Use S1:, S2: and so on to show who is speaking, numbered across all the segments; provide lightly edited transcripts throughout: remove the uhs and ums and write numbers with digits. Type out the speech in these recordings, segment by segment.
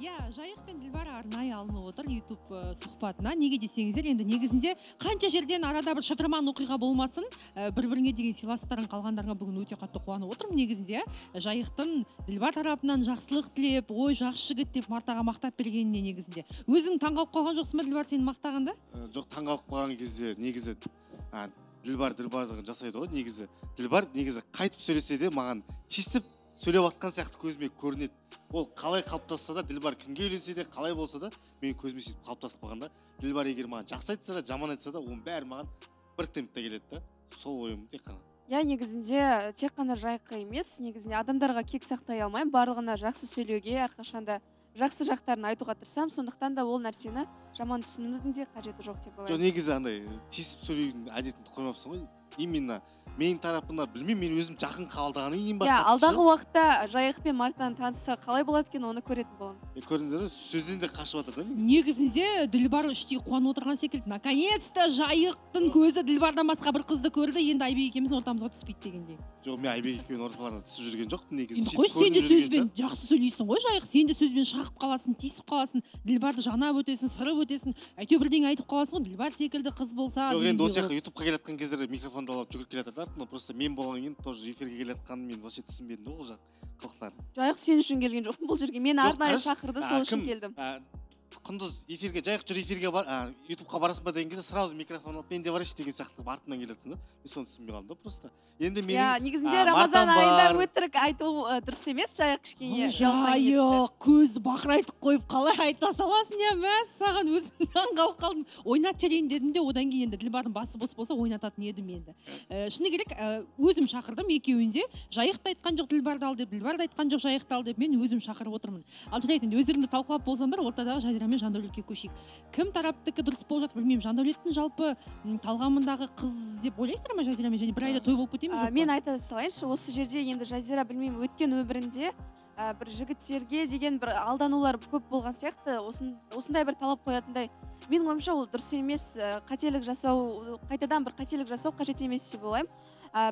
S1: Иә, Жайық пен Дилбар арнайы алынып отыр YouTube сұхбатына. Неге десеңіздер, енді негізінде қанша жерден арада бір шытырман оқиға болмасын, бір-біріне деген сыйластықтарын қалғандарына бүгін өте қатты қуанып отырмын. Негізінде Жайықтың Дилбар тарапынан жақсылық тілеп, ой жақсы жігіт деп Мартаға мақтап бергеніне негізінде. Өзің таңғалып қалған жоқсың ба Дилбар сені мақтағанда?
S2: Жоқ, таңғалып қалған кезде негізі Дилбар жасайды ғой, негізі. Дилбар негізі қайтып сөйлесе де маған тиісіп сөйлеп атқан сияқты көзіме көрінеді. Ол қалай қалыптасса да, Дилбар кімге үйленсе де, қалай болса да, мен көзіме сөйтіп қалыптасып қалғанда, Дилбар егер маған жақсы айтса да, жаман айтса да, оның бәрі маған бір темпте келеді да. Сол ойым тек қана.
S3: Я негізінде тек қана Жайыққа емес, негізінде адамдарға кек сақтай алмаймын, барлығына жақсы сөйлеуге, әрқашанда жақсы жақтарын айтуға тырысамын, сондықтан да ол нәрсені жаман түсінудің де қажеті жоқ деп ойлаймын.
S2: Жоқ, негізі андай тиісіп сөйлеудің әдетін қоймапсың ғой. Именно менің тарапына білмеймін, мен өзім жақын қабылдағаннан кейін ба.
S3: Алдағы уақытта Жайық пен Мартаны танысса қалай болады екен, оны көретін боламыз.
S2: Көрдіңіздер ме, сөзден де қашып жатыр да.
S1: Негізінде Дилбар іштей қуанып отырған секілді. Наконец-то Жайықтың көзі Дилбардан басқа бір қызды көрді, енді Айбек екеуміздің ортамызға түспейді дегендей.
S2: Жоқ, мен Айбек екеуінің орталарына түсіп жүрген жоқпын негізі.
S1: Қой, сен де сөзбен жақсы сөйлейсің ғой, Жайық. Сен де сөзбен шағып қаласың, тиісіп қаласың, Дилбарды жанап өтесің, сырып өтесің, әйтеуір бірдеңе айтып қаласың ғой, Дилбар секілді қыз болса.
S2: Жоқ, енді осы жаққа ютубқа келатқан кездерде микрофонды алып жүгіріп келе жатады, но просто мен болған кейін тоже эфирге келатқанын мен вообще түсінбедім да ол жақ қылықтарын.
S3: Жайық сен үшін келген жоқпын бұл жерге, мен арнайы шақырды, сол үшін келдім.
S2: Құндыз эфирге, Жайық жүр эфирге бар, ютубқа барасың ба деген кезде сразу микрофон алып, мен де барайыншы деген сияқты артынан келатсың да. Мен соны түсінбей қалдым да просто. Енді менің
S3: негізінде Рамазан айында өтірік айту дұрыс емес, Жайық кішкене
S1: Жайық көз бақырайтып қойып қалай айта саласың я, мәс саған өзім таңғалып қалдым. Ойнат жарайын дедім де, одан кейін енді Дилбардың басы бос болса ойнататын едім енді. Шыны керек, өзім шақырдым екеуінде. Жайықты айтқан жоқ Дилбарды ал деп, Дилбарды айтқан жоқ Жайықты ал деп, мен өзім шақырып отырмын. Ал жарайды, өздеріңді талқылап болсаңдар, ортадағы Жазира мен Жандәулетке көшейік. Кім тараптікі дұрыс болып жатыр білмеймін. Жандәулеттің жалпы талғамындағы қыз деп ойлайсыздар ма Жазирамен, және бір айда той болып кетеміз жоқ па?
S3: Мен айта салайыншы, осы жерде енді Жазира білмеймін, өткен өмірінде бір жігіттерге деген бір алданулар көп болған сияқты, осындай бір талап қоятындай. Менің ойымша ол дұрыс емес, қателік жасау, қайтадан бір қателік жасау қажет емес деп ойлаймын.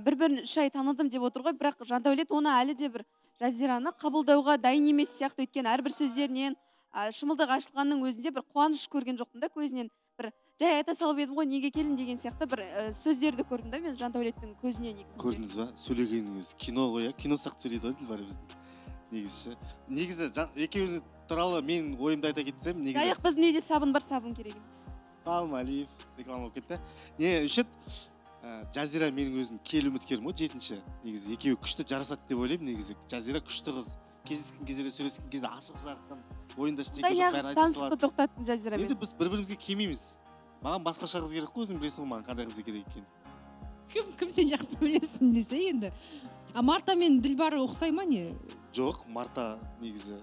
S3: Бір-бірін 3 ай таныдым деп отыр ғой, бірақ Жандәулет оны әлі де бір Жазираны қабылдауға дайын емес сияқты, өткен әрбір сөздерінен шымылдық ашылғанның өзінде бір қуаныш көрген жоқпын да көзінен. Бір жай айта салып едім ғой, неге келдің деген сияқты бір сөздерді көрдім да мен Жандәулеттің көзіне негізінде.
S2: Көрдіңіз ба? Сөйлегенің өзі кино ғой, кино сияқты сөйлейді ғой Дилбар біздің. Негізі екеуі туралы мен ойымды айта кетсем, негізі
S3: Жайық біздің үйде сабын бар, сабын керек емес.
S2: Алиев реклама болып кетті. Не үшін Жазира менің өзім кел үміткерім ғой, 7-ші. Негізі екеуі күшті жарасады деп ойлаймын негізі. Жазира күшті қыз. Кездескен кездерде сөйлескен кезде ашық жарықтан ойында ештеңе жоқ, бәрін айта салады.
S3: Танысықты тоқтаттым Жазирамен.
S2: Енді біз бір-бірімізге келмейміз. Маған басқаша қыз керек қой, өзің білесің маған қандай қыз керек екенін.
S1: Кім сен жақсы білесің десе енді. Марта мен Дилбар ұқсай ма не?
S2: Жоқ, Марта негізі.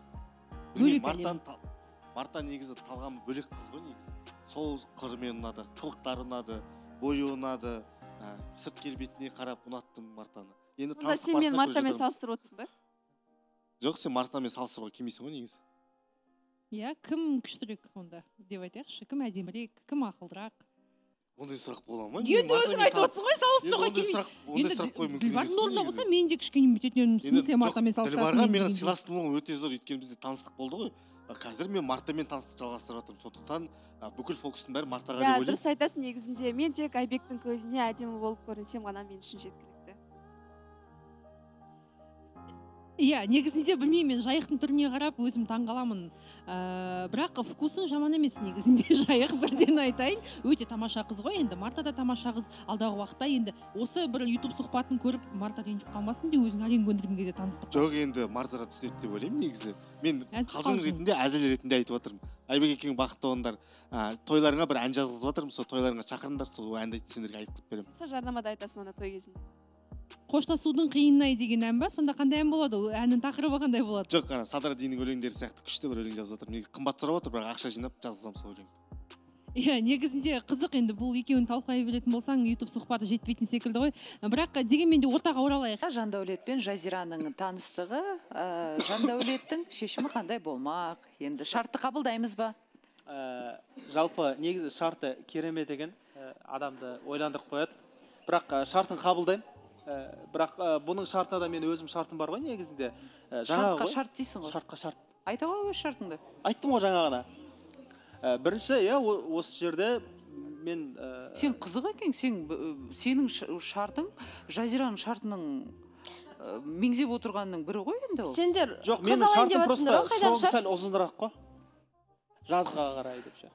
S2: Марта негізі талғамы бөлек қыз ғой негізі. Сол қырымен ұнады, қылықтары ұнады, бойы ұнады, сырт келбетіне қарап ұнаттым Мартаны.
S3: Сонда сен мен Мартамен салыстырып отырсың ба?
S2: Жоқ, сен Мартамен салыстыруға келмейсің ғой негізі.
S1: Иә, кім күштірек онда деп айтайықшы, кім әдемірек, кім ақылдырақ?
S2: Ондай сұрақ бола ма?
S1: Енді өзің айтып отырсың ғой, салыстыруға келмейді.
S2: Ондай сұрақ қою мүмкін емес.
S1: Дилбардың орнына болса мен де кішкене бүйтетін смысле Мартамен салыстырасың.
S2: Дилбарға менің сыйластығым өте зор, өйткені бізде таныстық болды ғой. Қазір мен Мартамен таныстық жалғастырып жатырмын, сондықтан бүкіл фокустың бәрі Мартаға деп ойлаймын.
S3: Дұрыс айтасың, негізінде мен тек Айбектің көзіне әдемі болып көрінсем ғана мен үшін жеткілікті.
S1: Иә, негізінде білмеймін, мен Жайықтың түріне қарап өзім таңғаламын. Бірақ вкусың жаман емес негізінде, Жайық бірден айтайын. Өте тамаша қыз ғой, енді Марта да тамаша қыз. Алдағы уақытта енді осы бір YouTube сұхбатын көріп, Марта ренжіп қалмасын деп өзің әрең көндірген кезде таныстық.
S2: Жоқ, енді Мартаға түсінеді деп ойлаймын негізі. Мен қалжың ретінде, әзіл ретінде айтып отырмын. Айбек екеуің бақытты болыңдар. Тойларыңа бір ән жазғызып жатырмын, сол тойларыңа шақырыңдар, сол әнді сендерге айтып беремін.
S3: Жарнамада айтасың оны той кезінде.
S1: Қоштасудың қиынай деген ән ба? Сонда қандай ән болады? Әннің тақырыбы қандай болады?
S2: Жоқ, Садрадиннің өлеңдері сияқты күшті бір өлең жазып жатырмын. Неге қымбат сұрап отыр, бірақ ақша жинап жазсам сол өлеңді.
S1: Иә, негізінде қызық, енді бұл екеуін талқылай білетін болсаң, YouTube сұхбаты жетпейтін секілді ғой. Бірақ дегенмен де ортаға оралайық.
S4: Жандәулет пен Жазираның таныстығы, Жандәулеттің шешімі қандай болмақ? Енді шартты қабылдаймыз ба?
S5: Жалпы негізі шарты керемет деген адамды ойландырып қояды. Бірақ шартын қабылдаймын. Бірақ бұның шартына да мен өзім шартым бар ғой негізінде.
S4: Шартқа шарт дейсің ғой.
S5: Шартқа шарт.
S4: Айта ғой өз шартыңды.
S5: Айттым ғой жаңағына. Бірінші, иә, осы жерде мен...
S4: Сен қызық екен, сенің шартың, Жазираның шартының меңзеп отырғанның бірі ғой енді ол.
S3: Сендер
S5: Жоқ,
S3: қыз
S5: менің
S3: алайын
S5: шартым
S3: деп
S5: просто
S3: жатсыңдар ғой,
S5: соңғы
S3: қайдақша?
S5: сәл ұзынырақ қой. Жазға қарай деп ше.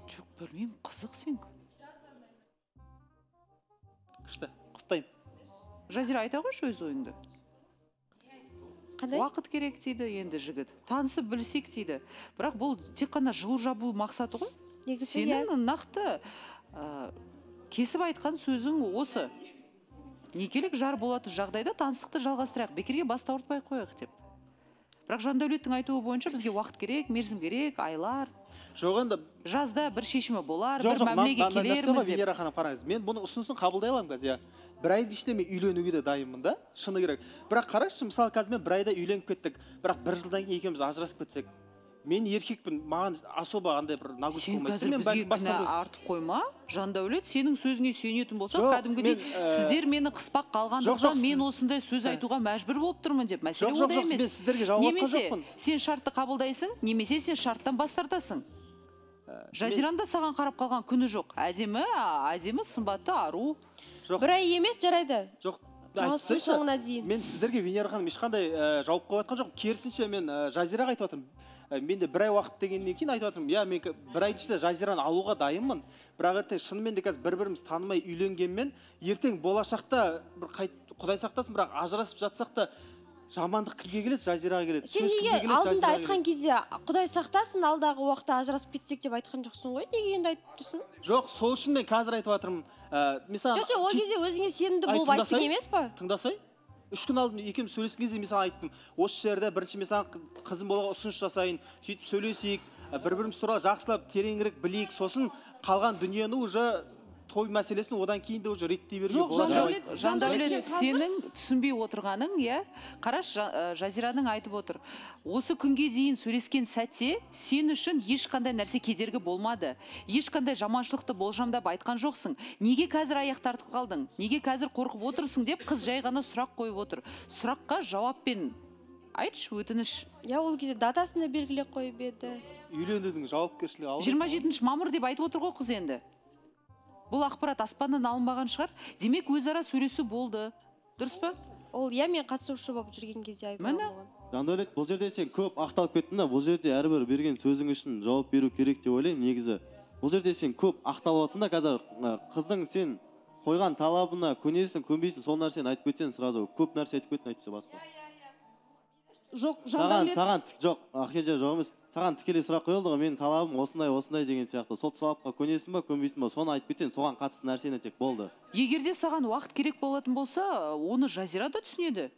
S4: Жоқ, білмеймін, қызық сен.
S5: Күшті, құптаймын.
S4: Жазира, айта қойшы өз ойыңды.
S3: Қандай?
S4: Уақыт керек дейді енді жігіт. Танысып білсек дейді. Бірақ бұл тек қана жылу жабу мақсаты ғой.
S3: Негізі иә.
S4: Сенің нақты кесіп айтқан сөзің осы. Некелік жар болатын жағдайда таныстықты жалғастырайық, бекерге бас ауыртпай қояйық деп. Бірақ Жандәулеттің айтуы бойынша бізге уақыт керек, мерзім керек, айлар.
S5: Жоқ, енді
S4: Жазда бір шешімі болар, бір мәмілеге келерміз деп.
S5: Венера ханым, қараңыз, мен бұны ұсынысын қабылдай аламын қазір. Бір айдың ішінде мен үйленуге де дайынмын да, шыны керек. Бірақ қарашы, мысалы қазір мен бір айда үйленіп кеттік, бірақ бір жылдан кейін екеуміз ажырасып кетсек, мен еркекпін, маған особо андай бір нагрузка
S4: Сен
S5: болмайды.
S4: қазір бізге кінә артып қойма. Жандәулет, сенің сөзіңе сүйенетін болсақ,
S5: Жоқ,
S4: кәдімгідей сіздер мені қыспақ қалғандықтан мен осындай сөз айтуға мәжбүр болып тұрмын деп. Мәселе ода емес.
S5: мен сіздерге жауап айтқан
S4: Немесе
S5: жоқпын.
S4: сен шартты қабылдайсың, немесе сен шарттан бас тартасың. Жазиранда саған қарап қалған күні жоқ. Әдемі, сымбатты, ару.
S3: Бір ай емес, жарайды.
S5: Жоқ,
S3: Маусым соңына дейін.
S5: мен сіздерге, Венера ханым, ешқандай жауап қойып жатқан жоқпын. Керісінше мен Жазираға айтып жатырмын. Менде бір ай уақыт дегеннен кейін айтып жатырмын. Я, мен бір ай ішінде Жазираны алуға дайынмын. Бірақ ертең шынымен де қазір бір-біріміз танымай үйленгенмен, ертең болашақта бір Құдай сақтасын, бірақ ажырасып жатсақ та жамандық кімге келеді? Жазираға келеді.
S3: Сен неге алдында айтқан кезде Құдай сақтасын, алдағы уақытта ажырасып кетсек деп айтқан жоқсың ғой? Неге енді айтып тұрсың?
S5: Жоқ, сол үшін мен қазір айтып жатырмын.
S3: Жоқ, сен ол кезде өзіңе сенімді болып айттың емес па?
S5: Тыңдасай. 3 күн алдын екеуміз сөйлескен кезде мен саған айттым. Осы жерде бірінші мен саған қызым болуға ұсыныс жасайын, сөйтіп сөйлесейік, бір-біріміз туралы жақсылап тереңірек білейік, сосын қалған дүниені уже той мәселесін одан кейін де уже реттей беруге болады.
S4: Жандәулет, сенің түсінбей отырғаның, иә? Қараш, Жазираның айтып отыр. Осы күнге дейін сөйлескен сәтте сен үшін ешқандай нәрсе кедергі болмады. Ешқандай жаманшылықты болжамдап айтқан жоқсың. Неге қазір аяқ тартып қалдың? Неге қазір қорқып отырсың деп қыз жай ғана сұрақ қойып отыр. Сұраққа жауаппен айтшы, өтініш.
S3: Я, ол кезде датасын да белгілеп қойып еді.
S5: Үйленудің жауапкершілігі ауыр.
S4: 27 мамыр деп айтып отыр ғой қыз енді. Бұл ақпарат аспаннан алынбаған шығар. Демек өзара сөйлесу болды. Дұрыс па?
S3: Ол я, мен қатысушы болып жүрген кезде айтқан болған.
S6: Жандәулет, бұл жерде сен көп ақталып кеттің да, бұл жерде әрбір берген сөзің үшін жауап беру керек деп ойлаймын негізі. Бұл жерде сен көп ақталып жатсың да, қазір қыздың сен қойған талабына көнесің, көнбейсің, сол нәрсені айтып кетсең, сразу көп нәрсе айтып кеттің, айтпаса басқа.
S1: Жоқ, Жандәулет.
S6: Саған жоқ, Ахеджа жоқ емес. Саған тікелей сұрақ қойылды ғой, менің талабым осындай деген сияқты. Сол талапқа көнесің ба, көнбейсің ба, соны айтып кетсең, соған қатысты нәрсені тек болды.
S4: Егер де саған уақыт керек болатын болса, оны Жазира да түсінеді.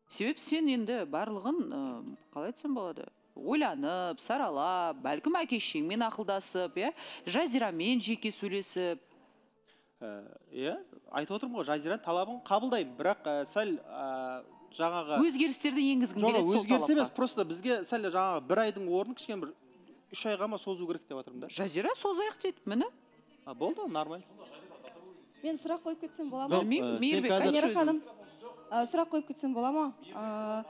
S4: Себеп сен енді барлығын, қалай айтсам болады, ойланып, саралап, бәлкім әке-шешеңмен ақылдасып, Жазирамен жеке сөйлесіп.
S5: Иә, айтып отырмын ғой, Жазираның талабын қабылдаймын, бірақ сәл жаңағы
S4: өзгерістерді енгізгің келеді сол талапқа.
S5: Өзгеріс емес, просто бізге сәл жаңағы бір айдың орнын кішкене бір 3 айға ма созу керек деп жатырмын да.
S4: Жазира созайық дейді, міне.
S5: Болды, нормально.
S7: Мен сұрақ қойып кетсем бола ма?
S4: Білмеймін, Мейірбек.
S7: Венера ханым, сұрақ қойып кетсем бола ма?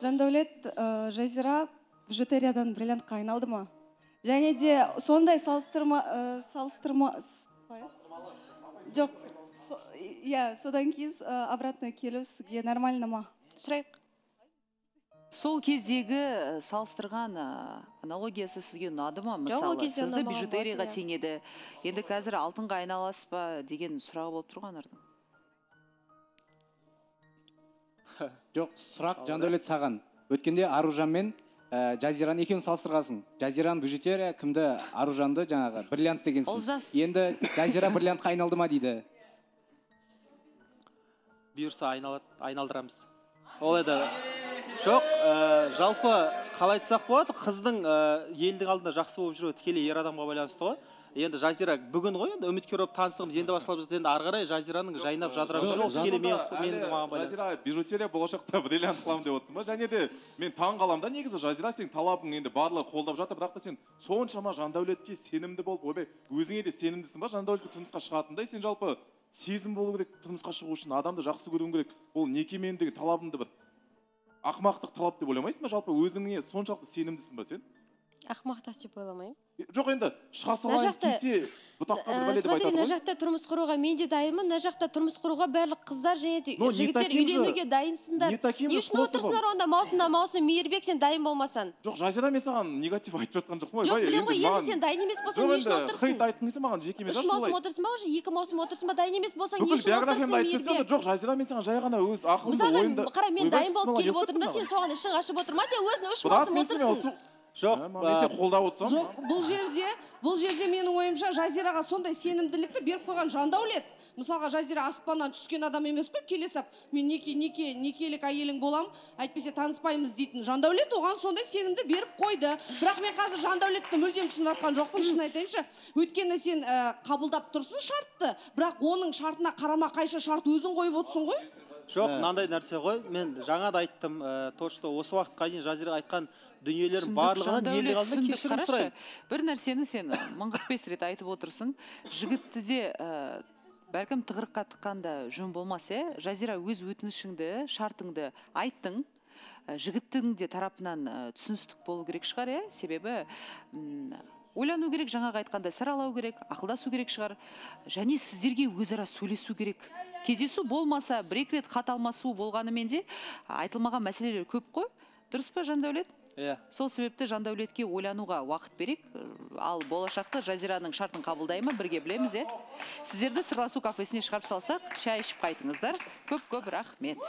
S7: Жандәулет, Жазира бижутериядан бриллиантқа айналды ма? Және де сондай салыстырма жоқ, иә, содан кейін обратно келу сізге нормально ма?
S3: Сұрайық.
S4: Сол кездегі салыстырған аналогиясы сізге ұнады ма? Мысалы, сізді бижутерияға теңеді. Енді қазір алтынға айналасыз ба деген сұрағы болып тұрғанардың.
S8: Жоқ, сұрақ Жандәулет саған. Өткенде Аружан мен Жазираны екеуін салыстырғансың. Жазираның бижутерия, кімді Аружанды жаңағы бриллиант дегенсің. Енді Жазира бриллиантқа айналды ма дейді.
S5: Бұйырса айналдырамыз. Ол еді. Жоқ, жалпы қалай айтсақ болады, қыздың елдің алдында жақсы болып жүруі тікелей ер адамға байланысты ғой. Енді Жазира бүгін ғой, енді үміткер болып таныстығымыз енді басталып жатыр. Енді ары қарай Жазираның жайнап жадырап жүруі тікелей менің маған байланысты.
S9: Жазира бижутерия болашақта бриллиант қыламын деп отырсың ба? Және де мен таң қаламын да, негізі Жазира сен талабың енді барлығы қолдап жатыр, бірақ та сен соншама Жандәулетке сенімді болып, ойбай, өзіңе де сенімдісің ба? Жандәулетке тұрмысқа шығатындай сен жалпы сезім болу керек, тұрмысқа шығу үшін адамды жақсы көруің керек. Ол некемендегі талабыңды бір ақымақтық талап деп ойламайсың ба? Жалпы өзіңе соншалықты сенімдісің ба сен?
S10: Ақымақтық деп ойламаймын.
S9: Жоқ, енді шыға салайын кесе бұтақтарды бәле деп
S10: смотри,
S9: айтады
S10: мына
S9: ғой.
S10: жақта тұрмыс құруға мен де дайынмын, мына жақта тұрмыс құруға барлық қыздар және де жігіттер үйленуге дайынсыңдар. Не үшін отырсыңдар онда маусым мейірбек, сен дайын болмасаң?
S9: Жоқ, Жазира, мен саған негатив айтып жатқан жоқпын ғой.
S10: Жоқ, білем ғой, енді сен дайын емес болсаң не үшін отырсың?
S9: Хейт айтқыңсың маған жекеме жас солай.
S10: 3 маусым отырсың ба, уже 2 маусым отырсың ба, дайын емес болсаң не
S9: Бүкіл
S10: үшін отырсың
S9: биографиямды айтып
S10: мейірбек?
S9: жоқ, Жазира, мен саған жай ғана өз ақылымды ойымды.
S10: Мысалға, қара, мен дайын болып келіп отырмын да, сен соған ішің ашып отырма, сен өзің 3 маусым отырсың.
S5: Жоқ,
S9: мен сен қолдап отырсам.
S7: Жоқ, бұл жерде менің ойымша Жазираға сондай сенімділікті беріп қойған Жандәулет. Мысалға, Жазира аспаннан түскен адам емес қой, келе сап, мен некелік әйелің болам, әйтпесе таныспаймыз дейтін Жандәулет оған сондай сенімді беріп қойды. Бірақ мен қазір Жандәулетті мүлдем түсініп жатқан жоқпын, шын айтайыншы. Өйткені сен қабылдап тұрсың шартты, бірақ оның шартына қарама қайшы шарт өзің қойып отырсың ғой.
S5: Жоқ, мынандай нәрсе ғой. Мен жаңа да айттым, то что осы уақытқа дейін Жазира айтқан дүниелердің барлығынан елдің алдында кешірім сұраймын.
S4: Бір нәрсені сен 1045 рет айтып отырсың. Жігітті де бәлкім тығырыққа тыққанда жөн болмас, Жазира, өз өтінішіңді, шартыңды айттың. Жігіттің де тарапынан түсіністік болу керек шығар, себебі ойлану керек, жаңағы айтқанда саралау керек, ақылдасу керек шығар. Және сіздерге өзара сөйлесу керек. Кездесу болмаса, бір-екі рет хат алмасу болғанымен де айтылмаған мәселелер көп қой. Дұрыс па, Жандәулет? Сол себепті Жандәулетке ойлануға уақыт берек, ал болашақта Жазираның шартын қабылдай ма, бірге білеміз, Сіздерді сырласу кафесіне шығарып салсақ, шай ішіп қайтыңыздар. Көп рахмет.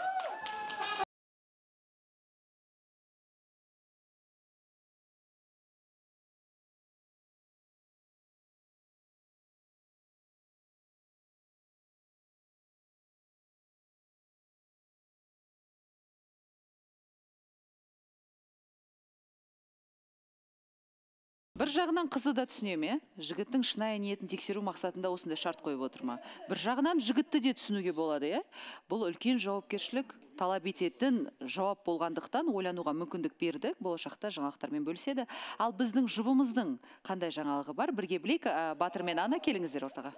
S4: Бір жағынан қызы да түсінеме, жігіттің шынайы ниетін тексеру мақсатында осындай шарт қойып отырма. Бір жағынан жігітті де түсінуге болады, Бұл үлкен жауапкершілік талап ететін жауап болғандықтан ойлануға мүмкіндік берді, болашақта жаңалықтармен бөліседі. Ал біздің жұбымыздың қандай жаңалығы бар, бірге білейік. Батыр мен Ана, келіңіздер ортаға.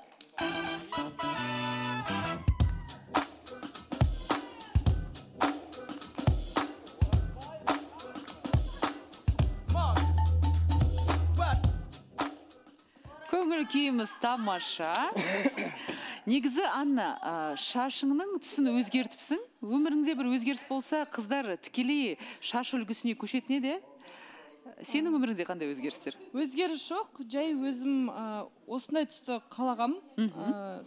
S4: Көңіл күйіміз тамаша. Негізі, Анна, шашыңның түсін өзгертіпсің. Өміріңде бір өзгеріс болса, қыздар тікелей шаш үлгісіне көшетін еді. Сенің өміріңде қандай өзгерістер?
S11: Өзгеріс жоқ, жай өзім осындай түсті қалағам.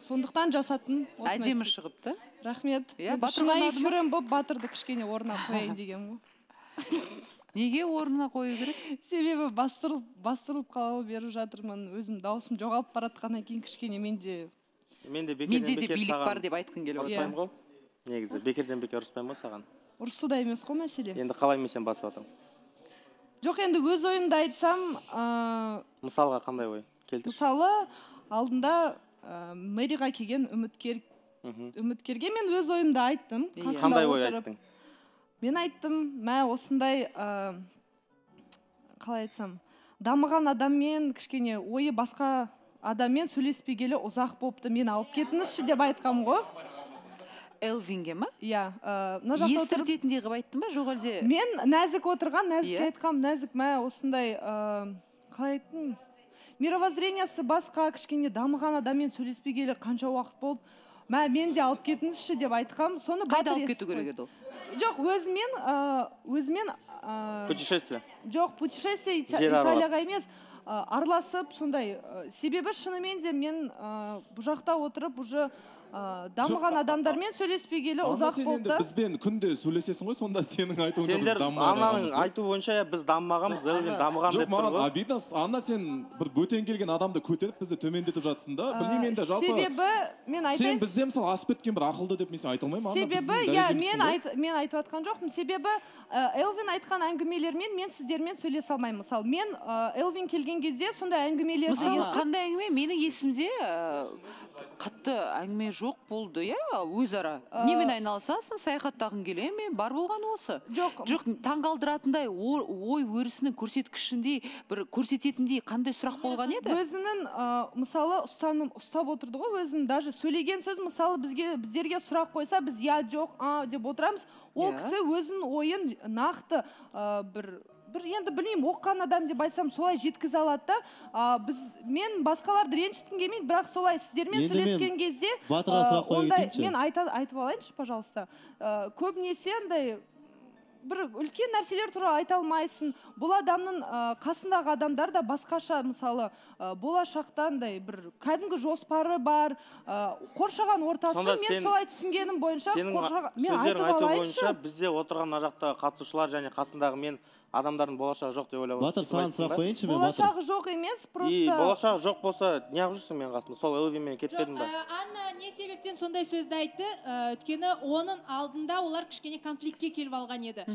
S11: Сондықтан жасаттым.
S4: Әдемі шығыпты.
S11: Рахмет. Шынайы көрем боп батырды кішкене орнына қояйын деген ғой.
S4: Неге орнына қою керек?
S11: Себебі бастырылып қалау беріп жатырмын. Өзім даусым жоғалып баратқаннан кейін кішкене менде
S4: де билік бар деп айтқың келіп
S5: ұрыспаймын ғой. Негізі бекерден бекер ұрыспаймын ғой саған.
S11: Ұрысуда емес қой мәселе.
S5: Енді қалай мен сен басып жатырмын?
S11: Жоқ, енді өз ойымды айтсам,
S5: мысалға қандай ой? Келтір.
S11: Мысалы, алдында мэрияға келген үміткерге мен өз ойымды айттым.
S5: Қандай ой айттың?
S11: Мен айттым, осындай, қалай айтсам, дамыған адаммен, кішкене ойы басқа адаммен сөйлеспегелі ұзақ болыпты, мен алып кетіңізші деп айтқам ғой.
S4: Элвинге ма?
S11: Иә.
S4: Естіртетіндей қып айттың ба, жоқ әлде?
S11: Мен нәзік отырған, нәзік айтқам, нәзік осындай, қалай айттым, мировоззрениесі басқа, кішкене дамыған адаммен сөйлеспегелі қанша уақыт болды. Мен де алып кетіңізші деп айтқам, соны
S4: қайда алып кету керек еді ол?
S11: Жоқ, өзімен
S5: путешествие.
S11: Жоқ, путешествие Италияға емес, араласып, сондай. Себебі шынымен де мен бұл жақта отырып, уже дамыған адамдармен сөйлеспегелі ұзақ болды.
S9: Бізбен күнде сөйлесесің ғой, сонда сенің айтуынша біз
S5: дамымағанбыз. Аннаның айту бойынша біз дамымағанбыз, дамыған деп тұр ғой.
S9: Обидно, Анна, сен бір бөтен келген адамды көтеріп бізді төмендетіп жатсың да. Білмеймін енді жалпы.
S11: Себебі мен айтайын.
S9: Сен бізде мысалы асып кеткен бір ақылды деп мен айта алмаймын.
S11: Себебі, мен айтып жатқан жоқпын. Себебі Элвин айтқан әңгімелермен мен сіздермен сөйлесе алмаймын. Мысалы, мен Элвин келген кезде сондай әңгімелерді
S4: мысалы қандай әңгіме? Менің есімде нақты әңгіме жоқ болды, иә, өзара. Немен айналысасың, саяхаттағың келе ме? Бар болған осы.
S11: Жоқ,
S4: таңғалдыратындай ой өрісінің көрсеткішіндей, бір көрсететіндей қандай сұрақ болған еді?
S11: Өзінің мысалы ұстап отырды ғой, өзінің даже сөйлеген сөз мысалы біздерге сұрақ қойса, біз я жоқ деп отырамыз. Ол кісі өзінің ойын нақты бір енді білмеймін, оқыған адам деп айтсам солай жеткізе алады да. Мен басқаларды ренжіткім келмейді, бірақ солай сіздермен сөйлескен кезде мен айтып алайыншы, пожалуйста. Көбінесе андай бір үлкен нәрселер туралы айта алмайсың. Бұл адамның қасындағы адамдар да басқаша, мысалы болашақтандай бір кәдімгі жоспары бар, қоршаған ортасы. Мен солай түсінгенім бойынша
S12: мен айтып алайыншы. Бізде отырған мына жақта қатысушылар және қасындағы мен адамдардың болашағы жоқ деп ойлап
S6: Батыр, саған сұрақ қояйыншы мен, Батыр.
S11: Болашағы жоқ емес, просто...
S12: Болашағы жоқ болса, неғып жүрсің мен қасында? Сол Элвинмен кетпедің ба?
S13: Анна не себептен сондай сөзді айтты? Өйткені оның алдында олар кішкене конфликтке келіп алған еді.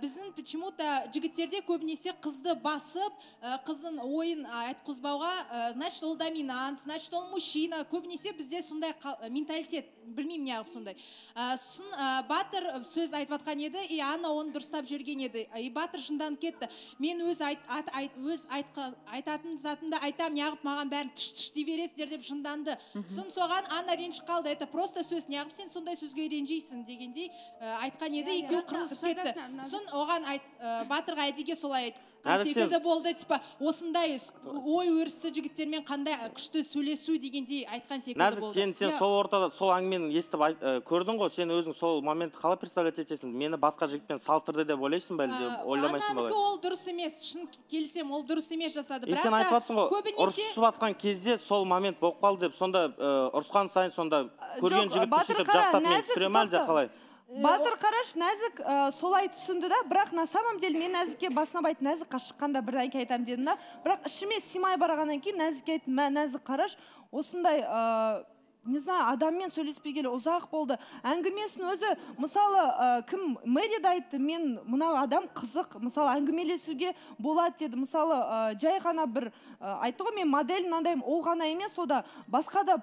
S13: Біздің почему-то жігіттерде көбінесе қызды басып, қыздың ойын айтқызбауға, значит, ол доминант, значит, ол мужчина. Көбінесе бізде сондай менталитет, білмеймін неғып сондай. Батыр сөз айтып атқан еді, и Анна оны дұрыстап жүрген еді. И Батыр шынданып кетті. Мен өз айтатын затында айтам, неғып маған бәрін түш дей бересіздер деп шынданды. Соған Анна ренжіп қалды. Это просто сөз, неғып сен сондай сөзге ренжейсің дегендей айтқан еді, екеуі қырылысып кетті. Оған Батырға әдеге солай секілді болды, типа осындай ой өрісі жігіттермен қандай күшті сөйлесу дегендей айтқан секілді болды.
S12: Нәзік, сен сол ортада сол әңгімені естіп көрдің ғой, сен өзің сол моментті қалай представлять етесің? Мені басқа жігітпен салыстырды деп ойлайсың ба, әлде ойламайсың ба?
S13: Аннанікі ол дұрыс емес, шын келсем, ол дұрыс емес жасады.
S12: Сен айтып жатсың ғой, ұрысып атқан кезде сол момент болып қалды деп, сонда ұрысқан сайын сонда көрген жігітті сөйтіп жақтап мен түсірем әлде қалай?
S11: Батыр қараш, Нәзік солай түсінді да, бірақ на самом деле мен Нәзікке басына байт, Нәзік шыққанда бір әйке айтам дедім да, бірақ ішіме симай барағаннан кейін Нәзікке айттым, Нәзік қараш, осындай не знаю, адаммен сөйлеспегелі ұзақ болды. Әңгімесін өзі, мысалы, кім Мэриді айтты, мен мына адам қызық, мысалы, әңгімелесуге болады деді. Мысалы, жай ғана бір айтты ғой, мен модель мынандайым, ол ғана емес, ода басқа да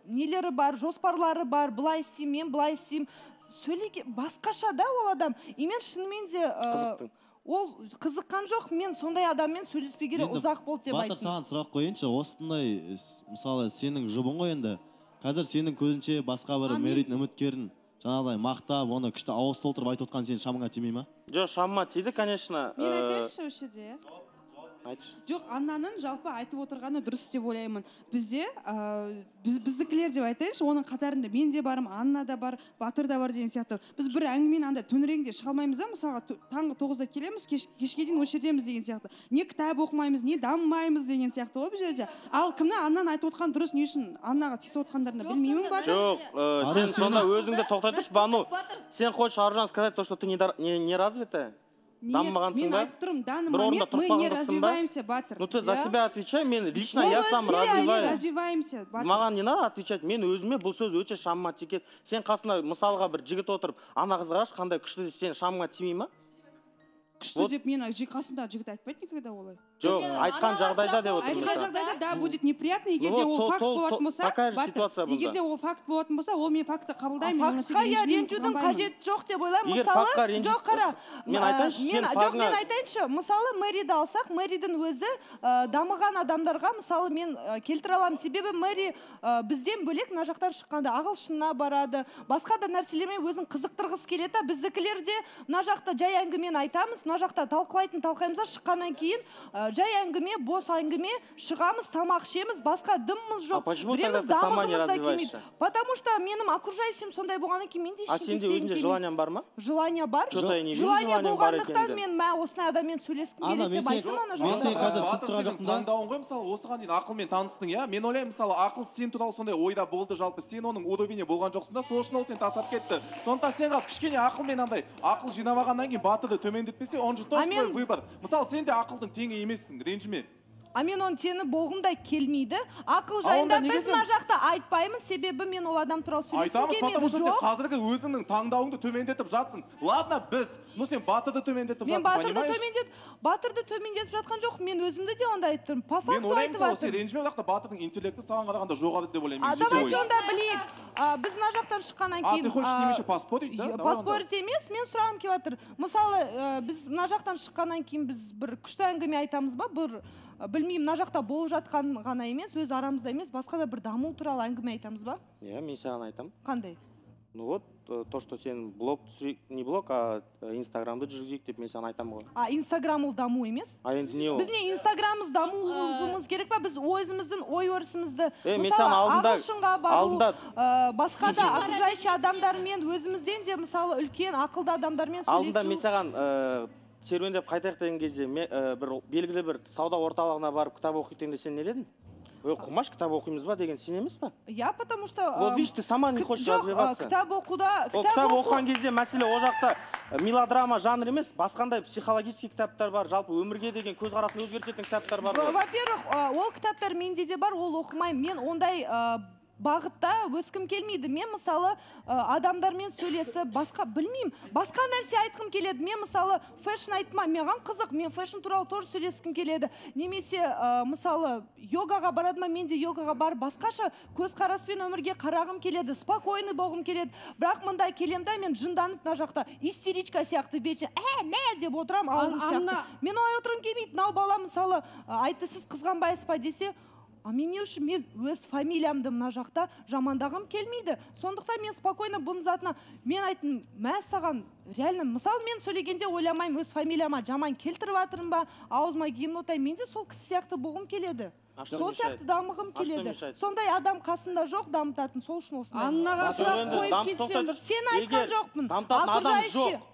S11: нелері бар, жоспарлары бар, былай істеймін, мен былай істеймін. Сөйлеге басқаша да ол адам. И мен шынымен де ол қызыққан жоқ, мен сондай адаммен сөйлеспегелі ұзақ болды деп айттым.
S6: Батыр, саған сұрақ қойыншы, осындай, мысалы, сенің жұбың ғой енді. Қазір сенің көзінше басқа бір Мэридің үміткерін жаңағыдай мақтап, оны күшті ауыз толтырып айтып отқан сенің шамыңа тимей ма?
S12: Жоқ, шамыма тиді, конечно.
S14: Мен айтайыншы осы жерде. Жоқ, Аннаның жалпы айтып отырғаны дұрыс деп ойлаймын. Бізде, біздікілер деп айтайыншы, оның қатарында мен де барым, Анна да бар, Батыр да бар деген сияқты. Біз бір әңгімен анда төңірегінде шыға алмаймыз да, мысалға таңғы 9-да келеміз, кешке дейін осы жердеміз деген сияқты. Не кітап оқымаймыз, не дамымаймыз деген сияқты ғой бұл жерде. Ал кімді Аннаны айтып отқан дұрыс, не үшін Аннаға тиісіп отқандарына білмеймін, Батыр?
S12: Жоқ, сен сонда өзіңді тоқтай тұршы, Бану. Сен хочешь, Аружан, сказать то, что ты не развитая? Дамымағансың ба?
S14: Мен айтып тұрмын, данный момент мы не развиваемся, Батыр.
S12: Ну ты за себя отвечай, мен лично я сам развиваюсь.
S14: Развиваемся, Батыр.
S12: Маған не надо отвечать, мен өзіме бұл сөз өте шамыма тиеді. Сен қасында мысалға бір жігіт отырып, ана қыз қарашы, қандай күшті, сен шамыңа тимей ма?
S14: Күшті деп мен қасымдағы жігіт айтпайды никогда олай.
S12: Жоқ, айтқан жағдайда деп отырмын.
S14: Айтқан жағдайда да будет неприятно, егер де ол факт болатын болса, егер де ол факт болатын болса, ол мен факты қабылдаймын.
S11: Фактқа ренжудің қажеті жоқ деп ойлаймын. Мысалы, жоқ қара. Мен айтайыншы, мысалы Мэриді алсақ, Мэридің өзі дамыған адамдарға, мысалы мен келтіре аламын. Себебі Мэри бізден бөлек мына жақтан шыққанда ағылшынына барады, басқа да нәрселермен өзін қызықтырғысы келеді. Біздікілерде мына жақта жай әңгімені айтамыз, мына жақта талқылаймыз, шыққаннан кейін жай әңгіме, бос әңгіме, шығамыз, тамақ ішеміз, басқа дымымыз жоқ.
S12: Почему тогда ты сама не развиваешься?
S11: Потому что менің окружающим сондай болғаннан кейін мен де ештеңе
S12: сенде өзіңде желаниең бар ма?
S11: Желание бар.
S12: Желание
S11: болғандықтан мен осындай адаммен сөйлескім келеді деп айттым ана
S9: жақта. Таңдауың ғой, мысалы, осыған дейін ақылмен таныстың, иә? Мен ойлаймын, мысалы, ақыл сен туралы сондай ойда болды жалпы. Сен оның удовлетворение болған жоқсың да, сол үшін ол сен тастап кетті. Сондықтан сен қазір кішкене ақылмен андай ақыл жинамағаннан кейін Батырды төмендетпесе, он же тоже твой выбор. Мысалы, сен де ақылдың теңі емессің, ренжіме.
S11: мен оны сені болғымдай келмейді. Ақыл жайында біз мына жақта айтпаймыз, себебі мен ол адам туралы сөйлескім келмейді.
S9: Айтамыз, потому что сен қазіргі өзіңнің таңдауыңды төмендетіп жатсың. Ладно, біз, сен батырды төмендетіп жатсың, понимаешь?
S11: Батырды төмендетіп жатқан жоқ, мен өзімді де онда айттым. По факту айтып
S9: жатырмын. Сен ренжіме бірақ та батырдың интеллекті саған қарағанда жоғары деп ойлаймын.
S11: Давайте онда білейік. Біз мына жақтан шыққаннан кейін...
S9: Ты хочешь немесе поспорить, да?
S11: Поспорить емес, мен сұрағым келіп жатыр. Мысалы, біз мына жақтан шыққаннан кейін біз бір күшті әңгіме айтамыз ба? Білмеймін, мына жақта болып жатқан ғана емес, өз арамызда емес, басқа да бір даму туралы әңгіме айтамыз ба?
S12: Иә, мен саған айтамын.
S11: Қандай?
S12: Ну вот, то, что сен блог, не блог, а инстаграмды жүргізейік деп мен саған айтамын ғой.
S11: Инстаграм ол даму емес?
S12: Енді не ол?
S11: Біз не инстаграмымыз дамуымыз керек па? Біз өзіміздің ой-өрісімізді,
S12: мысалы
S11: ағылшынға бару, басқа да окружающий адамдармен, өзімізден де мысалы үлкен ақылды адамдармен сөйлесу.
S12: Алдында мен саған серуендеп қайтайық деген кезде бір белгілі бір сауда орталығына барып кітап оқитын сен не дедің? Құмаш кітап оқимыз ба деген сен емес па?
S11: Я, потому что...
S12: Вот видишь, ты сама не хочешь развиваться.
S11: Кітап оқуда...
S12: Кітап оқыған кезде мәселе о жақта мелодрама жанр емес, басқандай психологический кітаптар бар, жалпы өмірге деген көзқарасын өзгертетін кітаптар бар.
S11: Во-первых, ол кітаптар менде де бар, ол оқымаймын. Мен ондай бағытта өскім келмейді. Мен мысалы адамдармен сөйлесіп, басқа білмеймін, басқа нәрсе айтқым келеді. Мен мысалы фэшн айтма, маған қызық, мен фэшн туралы тоже сөйлескім келеді. Немесе мысалы йогаға барады ма, мен де йогаға барып басқаша көзқараспен өмірге қарағым келеді, спокойный болғым келеді. Бірақ мында келемді, мен жынданып мына жақта истеричка сияқты вечер, мә деп отырам, ауыл сияқты. Мен олай отырғым келмейді. Мынау бала мысалы айтты, сіз қызғанбайсыз ба десе, мен не үшін мен өз фамилиямды мына жақта жамандағым келмейді. Сондықтан мен спокойно бұның затына мен айттым, мә саған реально, мысалы мен сөйлегенде ойламаймын, өз фамилияма жаман келтіріп жатырмын ба, аузыма гимн отаймын, мен де сол кісі сияқты болғым келеді. Сол сияқты дамығым келеді. Сондай адам қасында жоқ дамытатын, сол үшін осындай.
S7: Аннаға сұрақ қойып кетсем,
S11: сен айтқан жоқпын.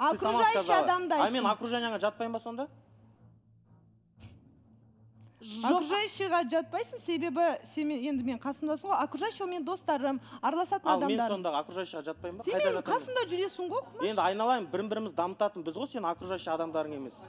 S12: Окружающий адамдай. А мен окруженияңа жатпаймын ба сонда?
S11: Окружающийға жатпайсың, себебі сен енді мен қасымдасың ғой, окружающий мен достарым, араласатын адамдар.
S12: Ал мен сонда окружающийға жатпаймын ба?
S11: Сен менің қасымда жүресің ғой, Құмаш.
S12: Енді айналайын, бірін-біріміз дамытатын біз ғой, сен окружающий адамдарың емес.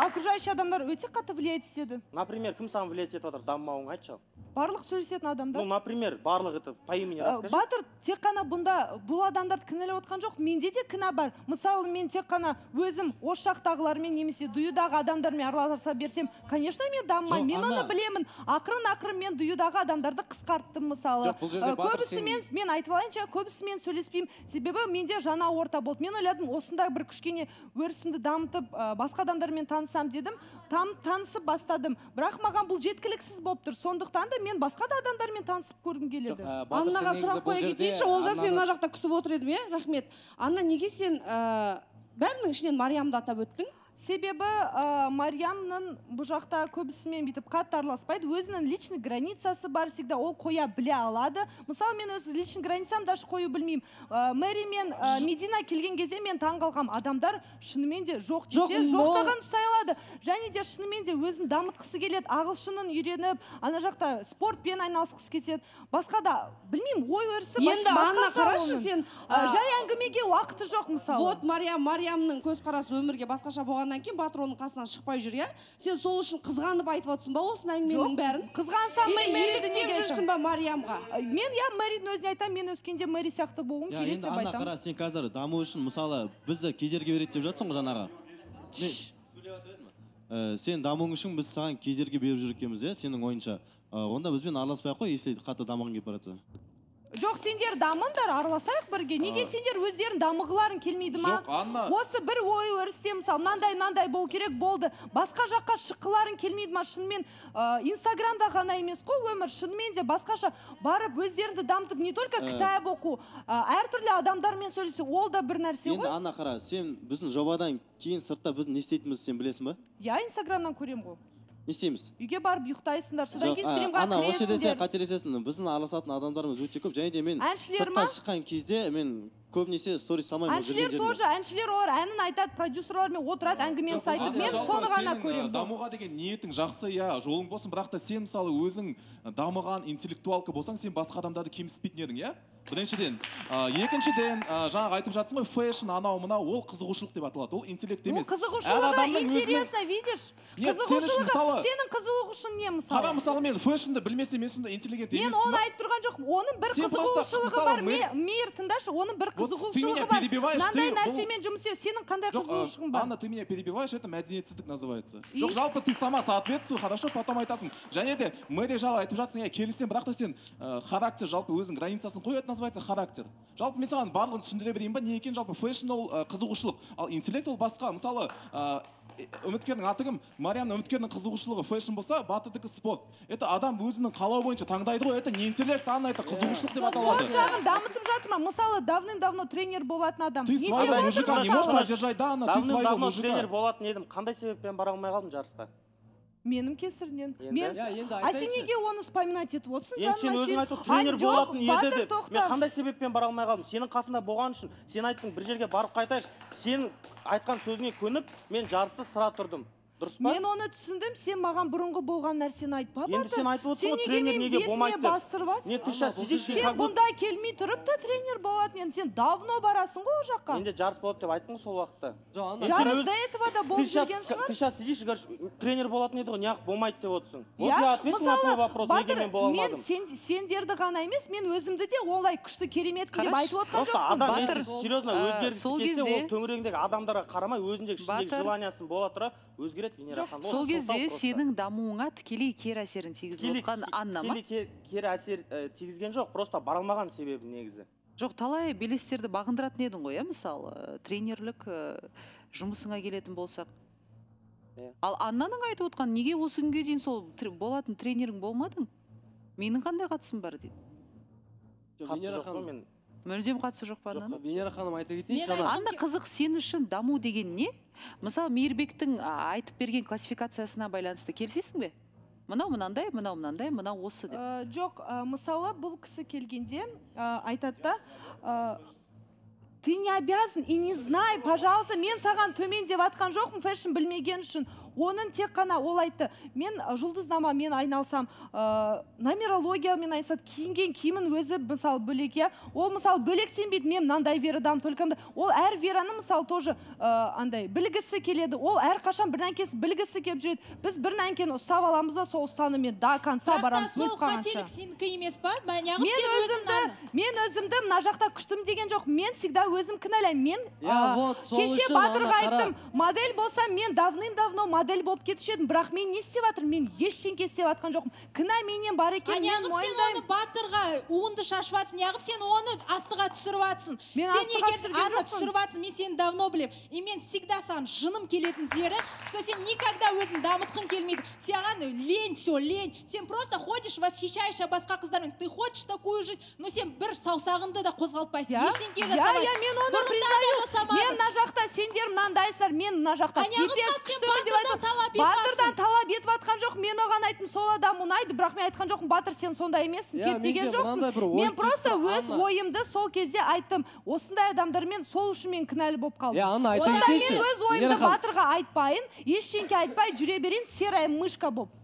S11: Окружающий адамдар өте қатты влиять етеді.
S12: Например, кім саған влиять етіп отыр, дамымауың айтшы.
S11: Барлық сөйлесетін адамдар.
S12: Ну, например, барлық это по имени расскажи.
S11: Батыр тек қана бұнда бұл адамдарды кінәлап отқан жоқ, менде де кінә бар. Мысалы, мен тек қана өзім осы жақтағылармен немесе дуюдағы адамдармен араласа берсем, конечно, мен дамымаймын. Мен оны білемін. Ақырын мен дуюдағы адамдарды қысқарттым, мысалы. Көбісімен, мен айтып алайынша, көбісімен сөйлеспеймін. Себебі менде жаңа орта болды. Мен ойладым, осында бір кішкене өрісімді дамытып, басқа адамдармен танысам дедім. Танысып бастадым. Бірақ маған бұл жеткіліксіз болып тұр. Сондықтан да мен басқа да адамдармен танысып көргім келеді.
S7: Аннаға сұрақ қоя кетейінші, Олжас мен мына жақта күтіп отыр едім, рахмет. Анна, неге сен бәрінің ішінен Мариямды атап өттің?
S11: Себебі Мариямның бұл жақта көбісімен бүйтіп қатты араласпайды. Өзінің личный границасы бар, всегда ол қоя біле алады. Мысалы, мен өз личный границам даже қою білмеймін. Мэри мен Медина келген кезде мен таңғалғам. Адамдар шынымен де жоқ десе, жоқтаған ұстай алады. Және де шынымен де өзін дамытқысы келеді. Ағылшынын үйреніп, ана жақта спортпен айналысқысы кетеді. Басқа да, білмеймін, ой өрісі
S7: енді Анна қарашы сен,
S11: жай әңгімеге уақыты жоқ, мысалы.
S7: Вот Мариямның көзқарасы өмірге басқаша болғаннан кейін батыр оның қасынан шықпай жүр, иә? Сен сол үшін қызғанып айтып отырсың ба осы әңгіменің бәрін?
S11: Қызғансам мен Мэриді неге
S7: жүрсің ба Мариямға?
S11: Мен Мэридің өзіне айтамын, мен өскенде Мэри сияқты болғым келеді деп айтамын.
S6: Анна қара, сен қазір даму үшін мысалы бізді кедергі береді деп жатсың ғой жаңаға. Сен дамуың үшін біз саған кедергі беріп жүр екенбіз, иә, сенің ойынша. Онда бізбен араласпай ақ қой, если қатты дамығың келіп бара жатса.
S11: Жоқ, сендер дамыңдар, араласайық бірге. Неге сендер өздерін дамығыларың келмейді ма?
S9: Жоқ, Анна.
S11: Осы бір ой өрісте, мысалы, мынандай болу керек болды. Басқа жаққа шыққыларың келмейді ма? Шынымен Инстаграмда ғана емес қой өмір, шынымен де басқаша барып өздеріңді дамытып, не только кітап оқу, әртүрлі адамдармен сөйлесу, ол да бір нәрсе ғой.
S6: Енді Анна қара, сен біздің жобадан кейін сыртта біз не істейтінімізді сен білесің ба?
S11: Я Инстаграмнан көрем ғой.
S6: Не істейміз?
S11: Үйге барып ұйықтайсыңдар, содан кейін стримға
S6: кіресіңдер. Ана, осы жерде қателесесің. Біздің араласатын адамдарымыз өте көп. Және де мен сыртқа шыққан кезде мен көбінесе сторис салмаймын.
S11: Әншілер тоже, әншілер олар әнін айтады, продюсерлармен отырады, әңгімені айтады. Мен соны ғана көремін.
S9: Дамуға деген ниетің жақсы, иә, жолың болсын, бірақ та сен мысалы өзің дамыған интеллектуалка болсаң, сен басқа адамдарды кемсітпейтін едің, иә? біріншіден екіншіден жаңағы айтып жатсың ғой фэшн анау мынау ол қызығушылық деп аталады, ол интеллект емес.
S11: Қызығушылығы интересно, видишь? Қызығушылығы, сенің қызығушың не мысалы?
S9: Қара мысалы мен фэшнді білмесем мен сонда интеллигент емеспін.
S11: Мен оны айтып тұрған жоқпын. Оның бір қызығушылығы бар. Мейір, тыңдашы, оның бір қызығушылығы бар. Мынандай нәрсемен жұмыс істе. Сенің қандай қызығушылығың бар?
S9: Анна, ты меня перебиваешь, это мәдениетсіздік называется. Жоқ, жалпы ты сама соответствуй, хорошо, потом айтасың. Және де мы де жала айтып жатсың, я келісем, бірақ та сен характер жалпы өзің границасын қой, это называется характер. Жалпы мен саған барлығын түсіндіре берейін ба, не екен жалпы фэшн ол қызығушылық, ал интеллект ол басқа. Мысалы, үміткердің аты кім? Мариямның үміткердің қызығушылығы фэшн болса, Батырдікі спорт. Это адам өзінің қалауы бойынша таңдайды ғой, это не интеллект, Анна, это қызығушылық деп аталады.
S11: Сол жағын дамытып жатыр ма? Мысалы, давным-давно тренер болатын адам.
S9: Ты своего мужика не можешь поддержать, да, Анна, ты своего мужика.
S12: Тренер болатын едім, қандай себеппен бара алмай қалдым жарысқа?
S11: Менің кесірінен. А сен неге оны вспоминать етіп отырсың?
S12: Енді сен өзің айтып тренер болатын еді деп. Мен қандай себеппен бара алмай қалдым? Сенің қасында болған үшін, сен айттың бір жерге барып қайтайыншы. Сен айтқан сөзіңе көніп, мен жарысты сыра тұрдым. Дұрыс па?
S11: Мен оны түсіндім, сен маған бұрынғы болған нәрсені айтпа, Батыр.
S12: Енді сен айтып отырсың, тренер неге болмайды деп.
S11: Не, ты сейчас сидишь, сен бұнда келмей тұрып та тренер болатын, енді сен давно барасың ғой о жаққа.
S12: Енді жарыс болады деп айттың сол уақытта.
S11: Жарыс до этого да болып жүрген шығар.
S12: Ты сейчас сидишь и говоришь, тренер болатын еді ғой, неғып болмайды деп отырсың. Вот я ответил на твой вопрос, неге мен бола алмадым.
S11: Мен сендерді ғана емес, мен өзімді де олай күшті кереметті деп айтып отырған жоқпын.
S12: Просто адам если серьезно өзгергісі келсе, ол төңірегіндегі адамдарға қарамай өзіндегі ішіндегі желаниясын бола тұра өзгереді Венера ханым.
S4: Сол кезде сенің дамуыңа тікелей кері әсерін тигізіп отқан Анна ма?
S12: Кері әсер тигізген жоқ, просто бара алмаған себебі негізі.
S4: Жоқ, талай белестерді бағындыратын едің ғой, мысалы, тренерлік жұмысыңа келетін болсақ. Ал Аннаның айтып отқан, неге осы күнге дейін сол болатын тренерің болмадың? Менің қандай қатысым бар дейді.
S12: Қатысы жоқ қой мен.
S4: Мүлдем қатысы жоқ па Аннаның?
S8: Венера ханым айта кетейінші.
S4: Анна, қызық, сен үшін даму деген не? Мысалы, Мейірбектің айтып берген классификациясына байланысты келсесің бе? Мынау мынандай, мынау мынандай, мынау осы деп.
S11: Жоқ, мысалы, бұл кісі келгенде айтады да, ты не обязан и не знай, пожалуйста, мен саған төмен деп атқан жоқпын, фэшн білмеген үшін. Оның тек қана ол айтты, мен жұлдызнамамен айналсам, нумерологиямен айналсам, киінген киімін өзі мысалы бөлек, ол мысалы бөлектенбейді, мен мынандай верадан, только ол әр вераны мысалы тоже андай білгісі келеді, ол әр қашан бір нәркесі білгісі келіп жүреді. Біз бір нәркені ұстап аламыз ба, сол ұстанымен до конца барамыз, өліп қалғанша.
S13: Сол қателік сенікі емес па?
S11: Мен өзімді мына жақта күштім деген жоқ, мен всегда өзім кінәлаймын. Мен кеше Батырға айттым, модель болсам, мен давным-давно модель болып кетуші едім, бірақ мен не істеп жатырмын? Мен ештеңке істеп жатқан жоқпын. Кінә менен бар екен, мен мойындаймын.
S13: Сен оны Батырға уынды шашып жатсың, неғып сен оны астыға түсіріп жатсың. Сен егер Анна түсіріп жатсың, мен сені давно білем. И мен всегда саған жыным келетін жері, что сен никогда өзін дамытқың келмейді. Саған лень, все, лень. Сен просто ходишь, восхищаешься басқа қыздармен. Ты хочешь такую жизнь, но сен бір саусағыңды да қозғалтпайсың. Ештеңке жасамайсың.
S11: Мен оны признаю. Мен мына жақта сендер мынандайсыздар, мен мына жақта пипец күштімін деп айтып. Батырдан талап етіп атқан жоқ, мен оған айттым, сол адам ұнайды, бірақ мен айтқан жоқпын, Батыр сен сондай емессің, кет деген жоқпын. Мен просто өз ойымды сол кезде айттым. Осындай адамдармен сол үшін мен кінәлі болып қалдым. Онда мен өз ойымды Батырға айтпайын, ештеңке айтпай жүре берейін, серая мышка болып.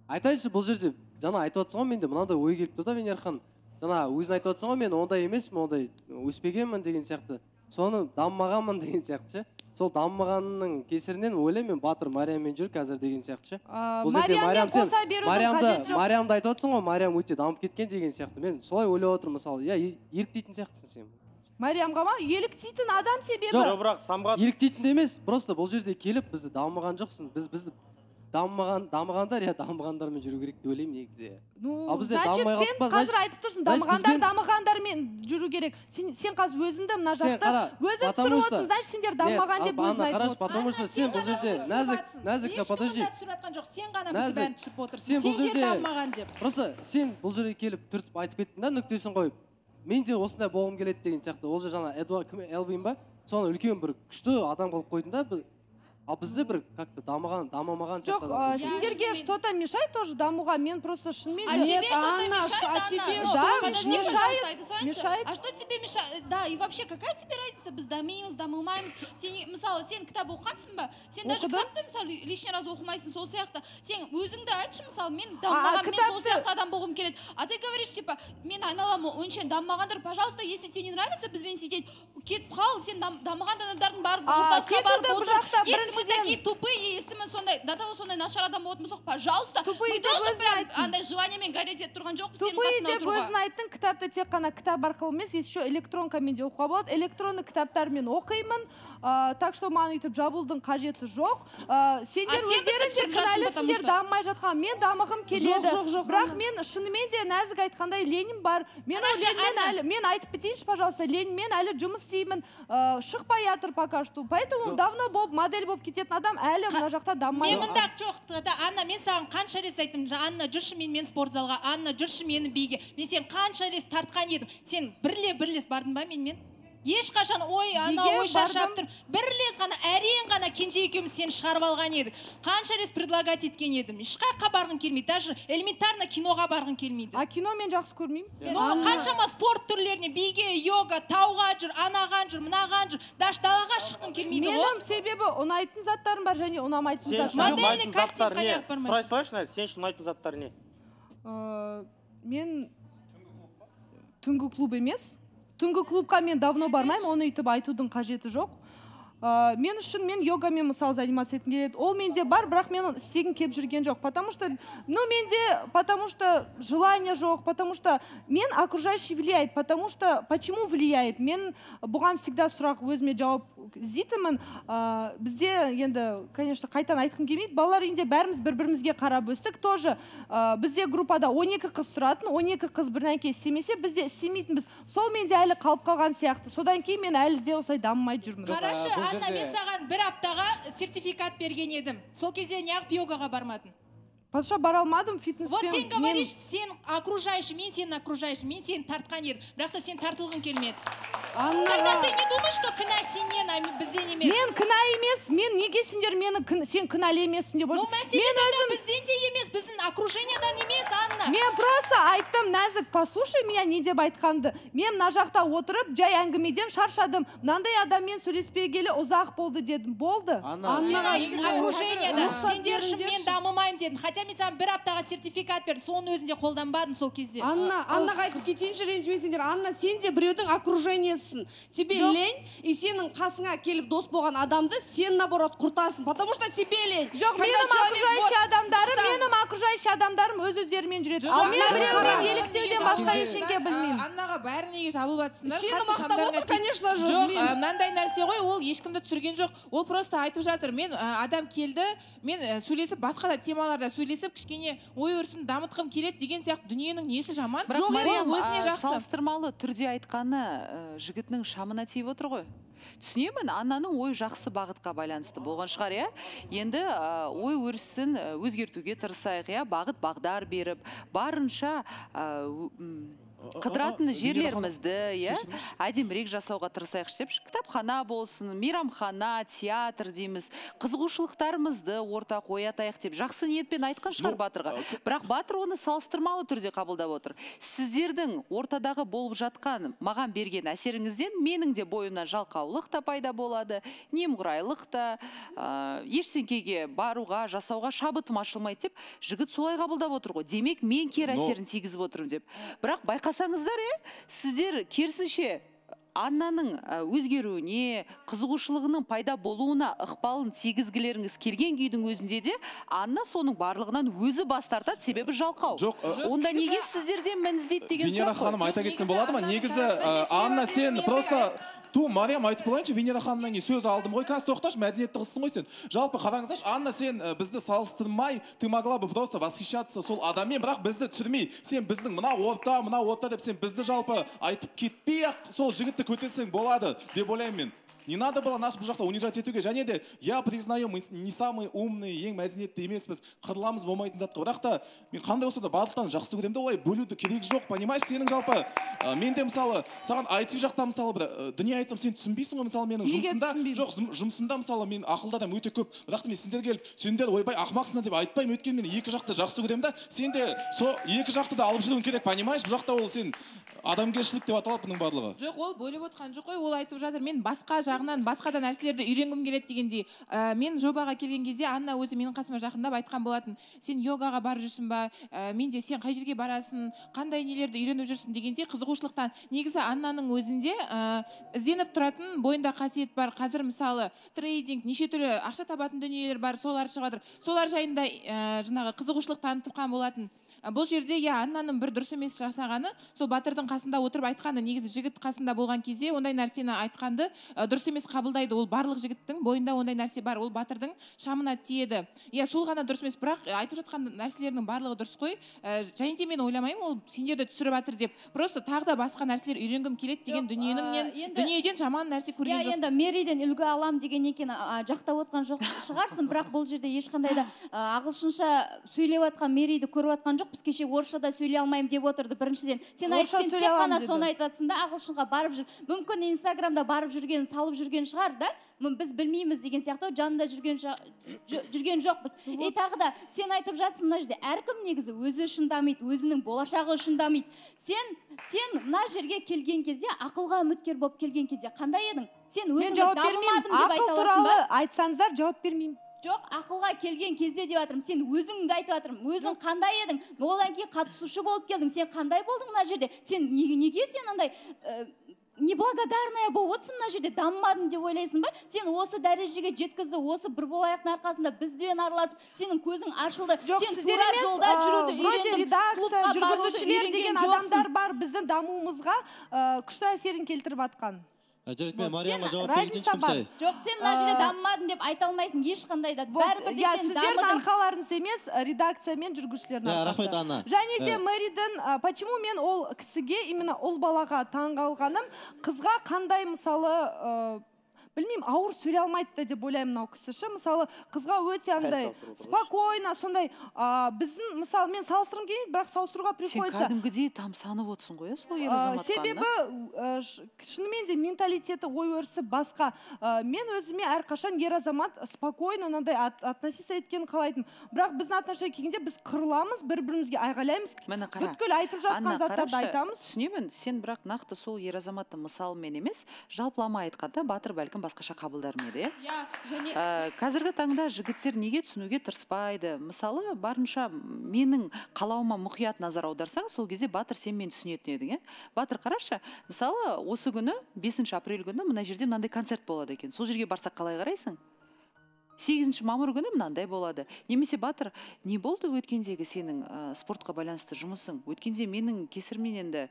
S8: Айтайыншы, бұл жерде жаңа айтып отырсың ғой, менде мынандай ой келіп тұр да, Венера ханым. Жаңа өзің айтып отырсың ғой, мен ондай емеспін, ондай өспегенмін деген сияқты. Соны дамымағанмын деген сияқты ше. Сол дамымағанның кесірінен ойлаймын, мен Батыр Марияммен жүр қазір деген сияқты ше.
S11: Марияммен қоса берудің қажет жоқ.
S8: Мариямды айтып отырсың ғой, Мариям өте дамып кеткен деген сияқты. Мен солай ойлап отырмын, мысалы, еліктейтін сияқтысың сен.
S11: Мариямға ма? Еліктейтін адам себебі.
S12: Жоқ, бірақ самғат.
S8: Еліктейтін емес, просто бұл жерде келіп бізді дамымаған жоқсың. Бізді дамығандар, дамығандармен жүру керек деп ойлаймын негізі.
S11: Значит, сен қазір айтып тұрсың, дамығандармен жүру керек. Сен қазір өзіңді мына жақта өзің түсіріп отырсың, значит, сендер дамымаған деп өзің айтып отырсың.
S8: Потому что сен бұл жерде нәзік, подожди.
S13: Сен ғана бізді бәрін түсіп отырсың. Сендер дамымаған деп.
S8: Просто сен бұл жерге келіп түртіп айтып кеттің да, нүктесін қойып. Мен де осындай болғым келеді деген сияқты. Ол же жаңа Элвин ба? Соны үлкен бір күшті адам қылып қойдың да,
S15: ал бізде бір как-то дамымаған
S11: жоқ, сендерге что-то мешает тоже дамуға? Мен просто шынымен
S10: А тебе что-то мешает? А что тебе мешает? Да, и вообще, какая тебе разница? Біз дамимыз, дамымаймыз. Мысалы, сен кітап оқығансың ба? Сен даже кітапты, мысалы, лишний раз оқымайсың, сол сияқты. Сен өзіңді айтшы, мысалы, мен дамымаған, мен сол сияқты адам болғым келеді. А ты говоришь, типа, мен айналам ойынша дамымағандар, пожалуйста, если тебе не нравится бізбен сидеть, кетіп қал, сен дамыған адамдардың барып құртасқа барып отыр. Если мы такие тупые, если мы сондай, до того сондай нашар адам болатын болсақ, пожалуйста, мы тоже прям андай желаниемен гореть етіп тұрған жоқпыз сенің
S11: тупые
S10: қасына
S11: деп
S10: отыруға.
S11: өзің айттың, кітапты тек қана кітап арқылы емес, еще электронкамен де оқуға болады. Электронды кітаптармен оқимын, так что маған өйтіп жабылудың қажеті жоқ. Сендер өздерің де кінәлісіңдер дамымай жатқан. Мен дамығым келеді. Бірақ мен шынымен де нәзік айтқандай Ленин бар. Мен айтып кетейінші, пожалуйста, Ленинмен әлі жұмыс істеймін. Шықпай жатыр пока что. Поэтому давно болып модель болып кететін адам әлі мына жақта дамымай.
S13: Мен мында жоқ, Анна, мен саған қанша рет айттым, Анна, жүрші мен спортзалға, Анна, жүрші мені биге. Мен сен қанша рет тартқан едім. Сен бірлес бардың ба менімен? Ешқашан ой шаршап тұр. Бірлес ғана, әрең ғана кенже екеуміз сені шығарып алған едік. Қанша рет предлагать еткен едім. Ешқаққа барғың келмейді, даже элементарно киноға барғың келмейді.
S11: А кино мен жақсы көрмеймін.
S13: Қаншама спорт түрлеріне, биге, йога, тауға жүр, анаған жүр, мынаған жүр, даже далаға шыққың келмейді.
S11: Менің себебі ұнайтын заттарым бар және ұнамайтын заттарым.
S13: Модельный кастинг қаяқ бармайсың.
S12: Сұрай салайшы, сен үшін ұнайтын заттар не?
S11: Мен түнгі клуб емес. Түнгі клубқа мен давно бармаймын, оны үйтіп айтудың қажеті жоқ. Мен үшін мен йогамен мысалы заниматься еткім келеді. Ол менде бар, бірақ мен істегім келіп жүрген жоқ. Потому что желание жоқ, потому что мен окружающий влияет, потому что почему влияет? Мен бұған всегда сұрақ өзіме жауап іздейтінмін. Бізде енді, конечно, қайтан айтқым келмейді. Балалар үйінде бәріміз бір-бірімізге қарап өстік. Тоже бізде группада 12 қыз тұратын, 12 қыз бірнәке істемесе, бізде істемейтінбіз. Сол менде әлі қалып қалған сияқты. Содан кейін мен әлі де осылай дамымай жүрмін.
S13: Қарашы, Анна, мен саған бір аптаға сертификат берген едім. Сол кезде неғып йогаға бармадың?
S11: Потому бара алмадым фитнеспен.
S13: Вот сен говоришь, сен окружающий, мен сені окружающий, мен сені тартқан едім. Бірақ та сен тартылғың келмеді. Тогда ты не думаешь, что кінә сенен, а бізден емес?
S11: Мен кінә емес, мен неге сендер сен кінәлі емессің деп
S13: отырсың? Мәселе бізден де емес, біздің окружениедан емес, Анна.
S11: Мен просто айттым, нәзік, послушай меня, не деп айтқанды. Мен мына жақта отырып, жай әңгімеден шаршадым. Мынандай адаммен сөйлеспегелі ұзақ болды дедім. Болды.
S13: Окружениедан, сендер үшін мен дамымаймын дедім. Хотя мен саған бір аптаға сертификат бердім, соның өзінде қолданбадым сол кезде.
S16: Аннаға айтып кетейінші, ренжімесіңдер. Анна, сен де біреудің окружениесің. Тебе лень, и сенің қасыңа келіп дос болған адамды сен наоборот құртасың, потому что тебе лень.
S11: Жоқ, менің окружающий адамдарым өз-өздерімен жүреді. Ал мен біреумен еліктеуден басқа ештеңе білмеймін.
S17: Аннаға бәрі неге жабылып жатсыңдар?
S16: Сені мақтап отыр, конечно же.
S17: Жоқ, мынандай нәрсе ғой, ол ешкімді түсірген жоқ. Ол просто айтып жатыр. Мен адам келді, мен сөйлесіп, басқа да темаларда сөйлесіп, кішкене ой өрісімді дамытқым келеді деген сияқты дүниенің несі жаман?
S4: Бірақ Мариям салыстырмалы түрде айтқаны жігітінің шамына тиіп отыр ғой. Түсінемін, Аннаның ой жақсы бағытқа байланысты болған шығар, иә? Енді ой өрісін өзгертуге тырысайық, иә? Бағыт бағдар беріп, барынша қыдыратын жерлерімізді, әдемірек жасауға тырысайық деп, кітапхана болсын, мейрамхана, театр дейміз, қызығушылықтарымызды орта қоятайық деп жақсы ниетпен айтқан шығар Батырға. Бірақ Батыр оны салыстырмалы түрде қабылдап отыр. Сіздердің ортадағы болып жатқан маған берген әсеріңізден менің де бойымнан жалқаулық та пайда болады, немқұрайлық та, ештеңкеге баруға, жасауға шабытым ашылмайды деп, жігіт солай қабылдап отыр ғой. Демек, мен кері әсерін тигізіп отырмын деп. Бірақ байқасаңыздар, сіздер керісінше Аннаның өзгеруіне, қызығушылығының пайда болуына ықпалын тигізгілеріңіз келген күйдің өзінде де Анна соның барлығынан өзі бас тартады, себебі жалқау. Онда неге сіздерден мән іздейді деген сұрақ?
S9: Венера ханым айта кетсем болады ма? Негізі Анна, сен просто Мариям айтып болайыншы, Венера ханымнан сөз алдым ғой, қазір тоқташы, мәдениетті қызсың ғой сен. Жалпы қараңыздаршы, Анна, сен бізді салыстырмай, ты могла бы просто восхищаться сол адаммен, бірақ бізді түсірмей, сен біздің мына орта деп сен бізді жалпы айтып кетпей-ақ сол жігітті көтерсең болады деп ойлаймын мен. не надо было нас бұл жақта унижать етуге. Және де я признаю, мы не самые умные, ең мәдениетті емеспіз, қырыламыз болмайтын затқа. Бірақ та мен қандай болса да барлықтан жақсы көремін де, олай бөлуді керек жоқ, понимаешь? Сенің жалпы мен де мысалы саған IT жақта мысалы бір дүние айтсам сен түсінбейсің ғой. Мысалы менің жұмысымда жоқ, жұмысымда мысалы мен ақылды адам өте көп. Бірақ та мен сендер келіп, сендер ойбай ақымақсыңдар деп айтпаймын. Өйткені мен екі жақты жақсы көремін да. Сен де сол екі жақты да алып жүруің керек, понимаешь? Бұл жақта ол сен адамгершілік деп аталады бұның барлығы.
S17: Жоқ, ол бөліп отқан жоқ қой, ол айтып жатыр. Мен басқа жағынан, басқа да нәрселерді үйренгім келеді дегендей. Мен жобаға келген кезде Анна өзі менің қасыма жақындап айтқан болатын. Сен йогаға барып жүрсің ба? Мен де сен қай жерге барасың? Қандай нелерді үйреніп жүрсің дегенде қызығушылықтан. Негізі Аннаның өзінде ізденіп тұратын бойында қасиет бар. Қазір мысалы трейдинг, неше түрлі ақша табатын дүниелер бар, солар шығып жатыр. Солар жайында жаңағы қызығушылық танытқан болатын. Бұл жерде Аннаның бір дұрыс емес жасағаны, сол батырдың қасында отырып айтқаны, негізі жігіт қасында болған кезде ондай нәрсені айтқанды дұрыс емес қабылдайды. Ол барлық жігіттің бойында ондай нәрсе бар, ол батырдың шамына тиеді. Сол ғана дұрыс емес, бірақ айтып жатқан нәрселерінің барлығы дұрыс қой. Және де мен ойламаймын, ол сендерді түсіріп жатыр деп. Просто тағы да басқа нәрселер үйренгім келеді деген дүниеден жаман нәрсе көрген жоқ.
S18: Енді Мериден үлгі алам деген екен жақтап отқан жоқ шығарсың, бірақ бұл жерде ешқандай да ағылшынша сөйлеп жатқан Мериді көріп жатқан жоқ. Біз кеше орысшада сөйлей алмаймын деп отырды. Біріншіден сен тек қана соны айтып жатсың да, ағылшынға барып жүр. Мүмкін Инстаграмда барып жүрген, салып жүрген шығар да. Біз білмейміз деген сияқты, жанында жүрген жоқпыз. Тағы да сен айтып жатсың мына жерде, әркім негізі өзі үшін дамиды, өзінің болашағы үшін дамиды. Сен мына жерге келген кезде, ақылға үміткер болып келген кезде қандай едің? Сен өзіңді дамымадым деп айта аласың ба?
S11: Ақыл туралы айтсаңыздар жауап бермеймін.
S18: Жоқ, ақылға келген кезде деп жатырмын. Сен өзіңді айтып жатырмын. Өзің қандай едің? Одан кейін қатысушы болып келдің. Сен қандай болдың мына жерде? Сен неге сен андай неблагодарная болып отырсың мына жерде, дамымадың деп ойлайсың ба? Сен осы дәрежеге жеткізді, осы бір болайықтың арқасында бізбен араласып, сенің көзің ашылды. Сен тура жолда жүруді үйрендің.
S11: Редакция, жүргізушілер деген адамдар бар, біздің дамуымызға күшті әсерін келтіріп атқан.
S6: Жарайды, Марияма жауап беретін ешкімсай.
S18: Жоқ, сен мына жерде дамымадың деп айта алмайсың ешқандай да. Бәрібір де сен дамыдың.
S11: Сіздердің арқаларыңыз емес, редакция мен жүргізушілердің арқасы.
S6: Рахмет, Анна.
S11: Және де Мэриден, почему мен ол кісіге, именно ол балаға таңғалғаным, қызға қандай мысалы білмеймін, ауыр сөйлей алмайды деп ойлаймын мынау кісі. Мысалы, қызға өте андай спокойно, сондай біздің, мысалы, мен салыстырғым келмейді, бірақ салыстыруға приходится.
S4: Сен кәдімгідей тамсанып отырсың ғой, сол ер азаматтан.
S11: Себебі, шынымен де менталитеті, ой өрісі басқа. Мен өзіме әрқашан ер азамат спокойно мынандай относиться еткенін қалайтын. Бірақ біздің отношение келгенде біз қырыламыз, бір-бірімізге айғайлаймыз. Бүткіл айтып жатқан заттарды айтамыз.
S4: Түсінемін, сен бірақ нақты сол ер азаматты мысалымен емес, жалпылама айтқанда батыр бәлкім басқаша қабылдар ма еді? Қазіргі таңда жігіттер неге түсінуге тырыспайды? Мысалы, барынша менің қалауыма мұқият назар аударсаң, сол кезде батыр сен мен түсінетін едің. Батыр қарашы, мысалы, осы күні 5 апрель күні мына жерде мынандай концерт болады екен. Сол жерге барсақ қалай қарайсың? 8 мамыр күні мынандай болады. Немесе батыр, не болды өткендегі сенің спортқа байланысты жұмысың? Өткенде менің кесірмен енді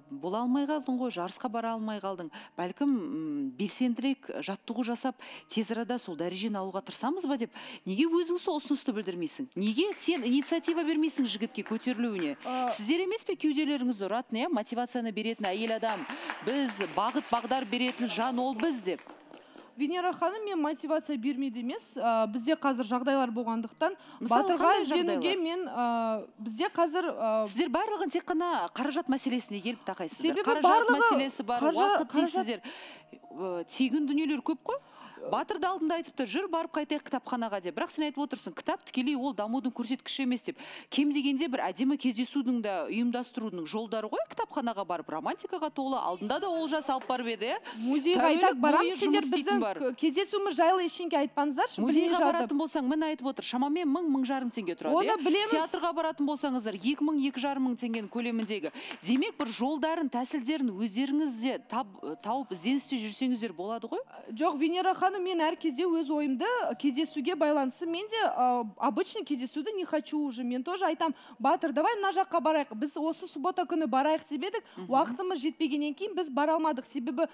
S4: бола алмай қалдың ғой, жарысқа бара алмай қалдың. Бәлкім белсендірек жаттығу жасап, тез арада сол дәрежені алуға тырысамыз ба деп. Неге өзің сол ұсынысты білдірмейсің? Неге сен инициатива бермейсің жігітке көтерілуіне? Сіздер емес пе кеуделеріңізді ұратын, мотивацияны беретін әйел адам, біз бағыт бағдар беретін жан ол біз деп.
S11: Венера ханым, мен мотивация бермейді емес. Бізде қазір жағдайлар болғандықтан батырға ізденуге мен бізде қазір
S4: сіздер барлығын тек қана қаражат мәселесіне келіп тақайсыздар.
S11: Себебі
S4: қаражат мәселесі бар, уақыт дейсіздер. Тегін дүниелер көп қой. Батыр да алдында айтыпты, жүр барып қайтайық кітапханаға деп. Бірақ сен айтып отырсың, кітап тікелей ол дамудың көрсеткіші емес деп. Кем дегенде бір әдемі кездесудің да ұйымдастырудың жолдары ғой, кітапханаға барып, романтикаға толы, алдында да олжас алып барып еді.
S11: Музейға айтақ барамыз, сендер біздің кездесуіміз жайлы ештеңке айтпаңыздаршы.
S4: Музейға баратын болсаң, мін айтып отыр, шамамен 1000-1500 теңге тұрады.
S11: Оны білеміз.
S4: Театрға баратын болсаңыздар, 2000-2500 теңгенің көлеміндегі. Демек, бір жолдарын, тәсілдерін өздеріңізде тауып ізденісте жүрсеңіздер болады ғой?
S11: Жоқ, Венера ханым, өйткені мен әр кезде өз ойымды кездесуге байланысты мен де обычный кездесуді не хочу уже. Мен тоже айтам, Батыр, давай мына жаққа барайық. Біз осы суббота күні барайық деп едік, уақытымыз жетпегеннен кейін біз бара алмадық. Себебі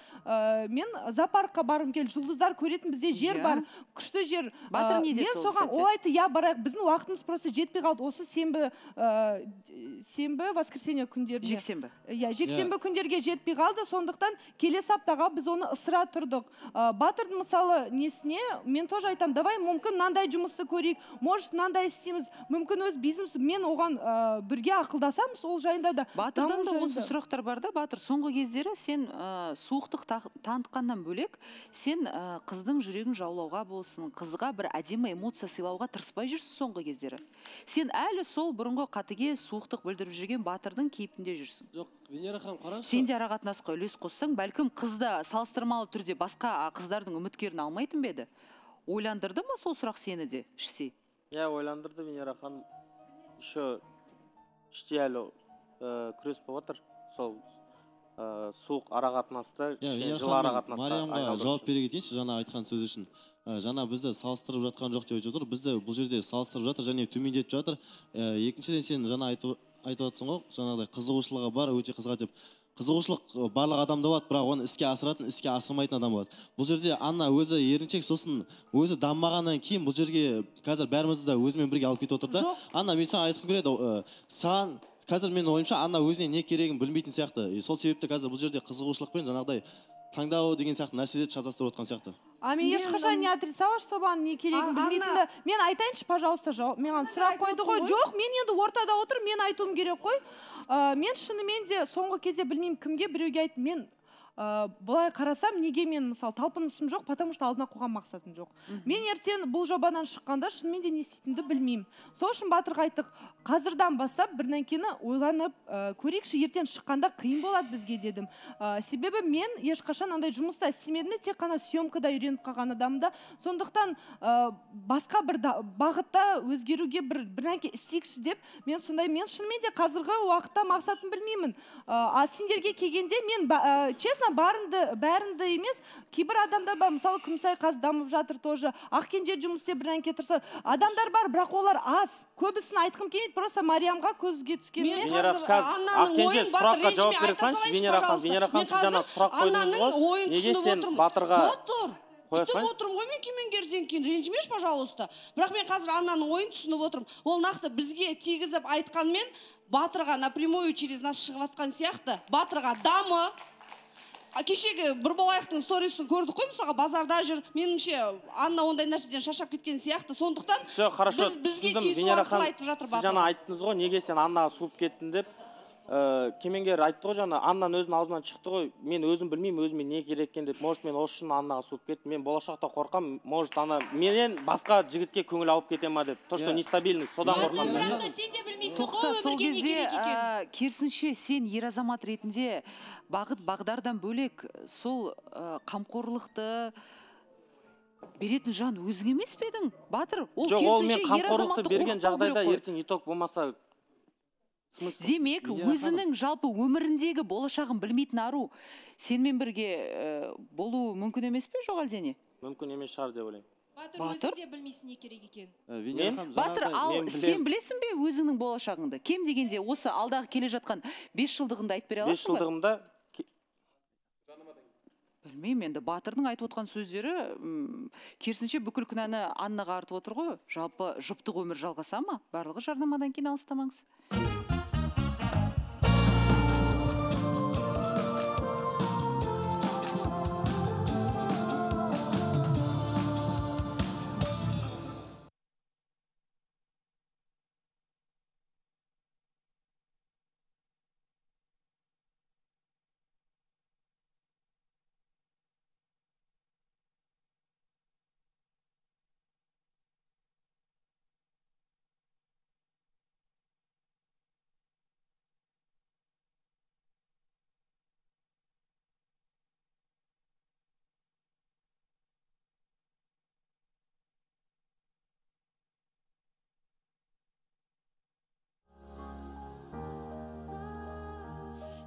S11: мен зоопаркқа барғым келді, жұлдыздар көретін бізде жер бар, күшті жер. Мен соған ол айтты, я барайық, біздің уақытымыз просто жетпей қалды. Осы сенбі, воскресенье күндеріне. Жексенбі күндерге жетпей қалды, сондықтан келесі аптаға біз оны ысыра тұрдық. Батырдың мысалы несіне, мен тоже айтам, давай мүмкін мынандай жұмысты көрейік, может мынандай істейміз, мүмкін өз бизнес, мен оған бірге ақылдасамыз, ол жайында да.
S4: Батырдан да осы сұрақтар бар да, Батыр, соңғы кездері сен суықтық танытқаннан бөлек, сен қыздың жүрегін жаулауға болсын, қызға бір әдемі эмоция сыйлауға тырыспай жүрсің соңғы кездері. Сен әлі сол бұрынғы қатыге суықтық білдіріп жүрген Батырдың кейпінде жүрсің.
S15: Жоқ, Венера ханым, қарашы.
S4: Сен де арақатынасқа үлес қоссаң, бәлкім қызды салыстырмалы түрде басқа қыздардың үміткерін алмайтын беді? Ойландырды ма сол сұрақ сені де ішсе?
S12: Ойландырды, Венера ханым. Еще іште әлі күрес болып отыр. Сол суық арақатынасты, жылы арақатынасты.
S6: Мариямға жауап бере кетейінші жаңа айтқан сөз үшін. Жаңа бізді салыстырып жатқан жоқ деп отыр. Бізді бұл жерде салыстырып жатыр және төмендетіп жатыр. Екіншіден сен жаңа айтып жатсың ғой, жаңағыдай қызығушылығы бар, өте қызға деп. Қызығушылық барлық адамда болады, бірақ оны іске асыратын, іске асырмайтын адам болады. Бұл жерде Анна өзі еріншек, сосын өзі дамымағаннан кейін бұл жерге қазір бәрімізді де өзімен бірге алып кетіп отыр да. Анна, мен саған айтқым келеді, саған қазір менің ойымша Анна өзіне не керегін білмейтін сияқты. Сол себепті қазір бұл жерде қызығушылықпен жаңағыдай таңдау деген сияқты нәрселерді шатастырып отқан сияқты.
S11: Мен ешқашан не отрицала, что маған не керегін білмейтінді. Мен айтайыншы, пожалуйста, маған сұрақ қойды ғой. Жоқ, мен енді ортада отыр, мен айтуым керек қой. Мен шынымен де соңғы кезде білмеймін кімге біреуге айттым. Мен былай қарасам, неге мен мысалы талпынысым жоқ, потому что алдына қойған мақсатым жоқ. Мен ертең бұл жобадан шыққанда шынымен де не істейтінді білмеймін. Сол үшін Батырға айттық, қазірдан бастап бірінен кейін ойланып көрейікші, ертең шыққанда қиын болады бізге дедім. Себебі мен ешқашан андай жұмыста істемедім де, тек қана съемкада үйреніп қалған адамда. Сондықтан басқа бір бағытта өзгеруге бірінен кейін істейікші деп, мен шынымен де қазіргі уақытта мақсатым білмеймін. Сендерге келгенде мен честно бәрінді емес, кейбір адамдар бар, мысалы Күмісай қазір дамып жатыр тоже, Ақкенже жұмыс істеп бірінен кейін тұрса, адамдар бар, бірақ олар аз. Көбісін айтқым келмейді, просто Мариямға көзге түскенмен.
S12: Ақкенже сұраққа жауап бере салайыншы, Венера ханым, сіз жаңа сұрақ қойдыңыз ғой, неге сен Батырға
S16: түсініп отырмын ғой, мен кемеңгерден кейін ренжімеш, пожалуйста. Бірақ мен қазір Аннаның ойын түсініп отырмын. Ол нақты бізге тегізіп айтқанмен Батырға напрямую через нас шығып атқан сияқты. Батырға дамы. Кешегі Бірболаевтың сторисін көрдік қой, мысалға базарда жүр. Меніңше Анна ондай нәрседен шаршап кеткен сияқты. Сондықтан бізге тиісу арқылы айтып жатыр Батыр.
S12: Сіз жаңа айттыңыз ғой, неге сен Аннаға суып кеттің деп. Кемеңгер айтты ғой жаңа, Аннаның өзінің аузынан шықты ғой, мен өзім білмеймін, өзіме не керек екен деп. Может, мен осы үшін Аннаға суып кеттім. Мен болашақта қорқам, может, ана менен басқа жігітке көңіл алып кете ма деп. То, что нестабильность, содан қорқам.
S4: Тоқта, сол кезде керісінше сен ер азамат ретінде бағыт бағдардан бөлек сол қамқорлықты беретін жан өзің емес пе едің, Батыр? Ол керісінше ер азаматты
S12: берген жағдайда ертең итог болмаса
S4: демек, өзінің жалпы өміріндегі болашағын білмейтін ару сенмен бірге болу мүмкін емес пе, жоқ әлде?
S12: Мүмкін емес шығар деп ойлаймын.
S13: Батыр өзі де білмейсің не керек екен.
S4: Батыр, ал сен білесің бе өзіңнің болашағыңды? Кем дегенде осы алдағы келе жатқан 5 жылдығында айтып бере аласың ба?
S12: 5 жылдығымда
S4: білмеймін енді, Батырдың айтып отқан сөздері керісінше бүкіл күнәні Аннаға артып отыр ғой. Жалпы жұптық өмір жалғаса ма? Барлығы жарнамадан кейін алыстамаңыз.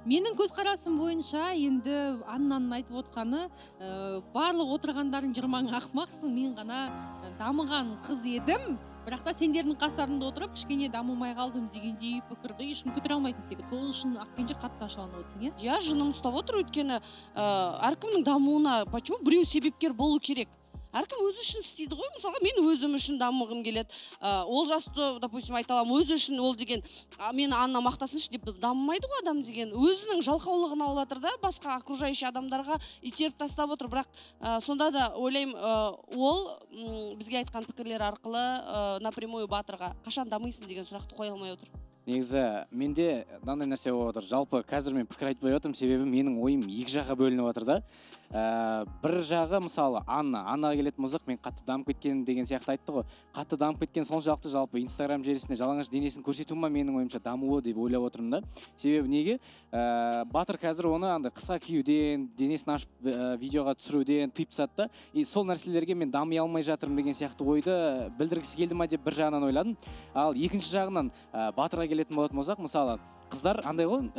S1: Менің көзқарасым бойынша енді Аннаның айтып отқаны, барлық отырғандардың жырмаң ақмақсың, мен ғана дамыған қыз едім, бірақ та сендердің қастарында отырып кішкене дамымай қалдым дегендей пікірді ешкім көтере алмайтын секілді. Сол үшін Ақкенже қатты ашуланып отырсың, иә?
S16: Иә, жыным ұстап отыр, өйткені әркімнің дамуына почему біреу себепкер болу керек? Әркім өзі үшін істейді ғой. Мысалға мен өзім үшін дамығым келеді. Ол жасты, допустим, айта аламын, өзі үшін ол деген мені Анна мақтасыншы деп дамымайды ғой адам деген. Өзінің жалқаулығын алып жатыр да, басқа окружающий адамдарға итеріп тастап отыр. Бірақ сонда да ойлаймын, ол бізге айтқан пікірлер арқылы напрямую Батырға қашан дамыйсың деген сұрақты қоя алмай отыр.
S8: Негізі менде мынандай нәрсе болып отыр. Жалпы қазір мен пікір айтпай отырмын, себебі менің ойым екі жаққа бөлініп отыр да. Бір жағы мысалы Аннаға келетін болсақ, мен қатты дамып кеткен деген сияқты айтты ғой. Қатты дамып кеткен соншалықты жалпы Инстаграм желісінде жалаңаш денесін көрсету ма менің ойымша дамуы деп ойлап отырмын да. Себебі неге? Батыр қазір оны андай қысқа киюден, денесін ашып видеоға түсіруден тыйып тастады да. И сол нәрселерге мен дами алмай жатырмын деген сияқты ойды білдіргісі келді ма деп бір жағынан ойладым. Ал екінші жағынан Батырға келетін болатын болсақ, мысалы қыздар андай ғой,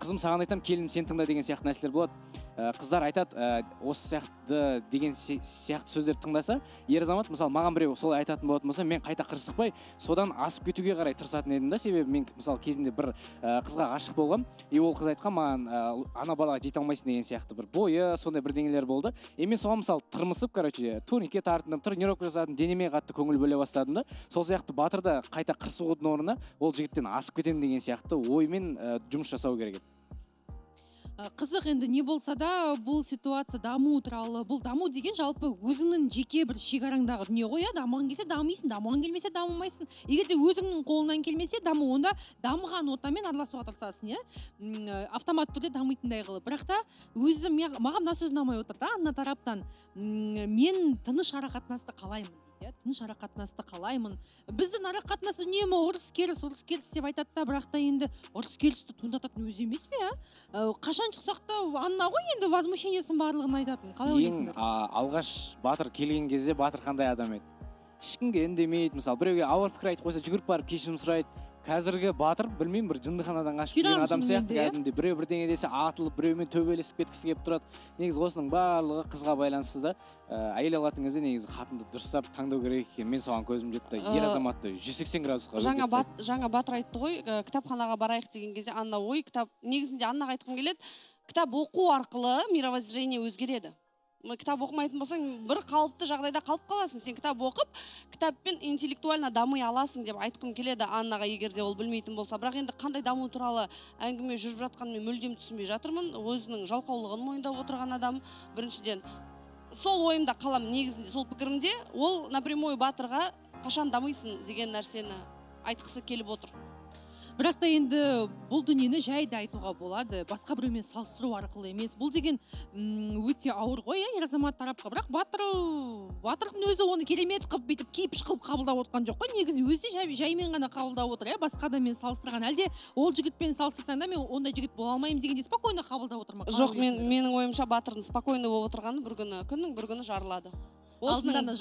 S8: қызым саған айтам, келінім сен тыңда деген сияқты нәрселер болады. Қыздар айтады, осы сияқты деген сияқты сөздер тыңдаса, ер азамат мысалы маған біреу солай айтатын болатын болса, мен қайта қырсықпай содан асып кетуге қарай тырысатын едім да. Себебі мен мысалы кезінде бір қызға ғашық болғам, и ол қыз айтқан маған ана балаға жете алмайсың деген сияқты бір бойы сондай бірдеңелер болды. И мен соған мысалы тырмысып, короче, турникке тартындым, тренировка жасадым, денеме қатты көңіл бөле бастадым да. Сол сияқты Батыр да қайта қырсығудың орнына ол жігіттен асып кетемін деген сияқты оймен жұмыс жасау керек еді.
S1: Қызық енді не болса да бұл ситуация даму туралы, бұл даму деген жалпы өзіңнің жеке бір шекараңдағы дүние ғой, дамыған келсе дамисың, дамыған келмесе дамымайсың. Егер де өзіңнің қолыңнан келмесе даму, онда дамыған ортамен араласуға тырысасың, иә? Автомат түрде дамитындай қылып. Бірақ та өзім маған мына сөз ұнамай отыр да, Анна тараптан. Мен тыныш арақатынасты қалаймын. Тыныш арақатынасты қалаймын. Біздің арақатынас үнемі ұрыс керіс деп айтады да, бірақ та енді ұрыс керісті туындататын өзі емес пе? Қашан шықсақ та Анна ғой енді возмущениесін барлығын айтатын. Қалай ойлайсыңдар?
S8: Алғаш Батыр келген кезде Батыр қандай адам еді? Ешкімге үндемейді, мысалы біреуге ауыр пікір айтып қойса жүгіріп барып кешірім сұрайды. Қазіргі Батыр білмеймін, бір жындыханадан қашып келген адам сияқты кәдімгідей біреу бірдеңе десе атылып, біреумен төбелесіп кеткісі келіп тұрады. Негізі осының барлығы қызға байланысты да. Әйел алатын кезде негізі қатынды дұрыстап таңдау керек екен. Мен соған көзім жетті. Ер азаматты 180 градусқа өзгертсек.
S16: Жаңа Батыр айтты ғой, кітапханаға барайық деген кезде Анна ой, негізінде Аннаға айтқым келеді, кітап оқу арқылы мировоззрение өзгереді. Кітап оқымайтын болсаң, бір қалыпты жағдайда қалып қаласың. Сен кітап оқып, кітаппен интеллектуально дамый аласың деп айтқым келеді Аннаға, егер де ол білмейтін болса. Бірақ енді қандай даму туралы әңгіме жүріп жатқанын мен мүлдем түсінбей жатырмын. Өзінің жалқаулығын мойындап отырған адам біріншіден. Сол ойымда қалам негізінде, сол пікірімде, ол напрямую Батырға қашан дамыйсың деген нәрсені айтқысы келіп отыр.
S1: Бірақ та енді бұл дүниені жайды айтуға болады, басқа біреумен салыстыру арқылы емес. Бұл деген өте ауыр ғой, ер азамат тарапқа. Бірақ Батырдың өзі оны керемет қылып бүйтіп кейпіш қылып қабылдап отқан жоқ қой. Негізі өзі жаймен ғана қабылдап отыр, басқа адаммен салыстырған. Әлде ол жігітпен салыстырсаң да мен ондай жігіт бола алмаймын дегенде спокойно қабылдап отыр ма?
S16: Жоқ, менің ойымша Батырдың спокойно болып отырғаны күннің бір күні жарылады. Осының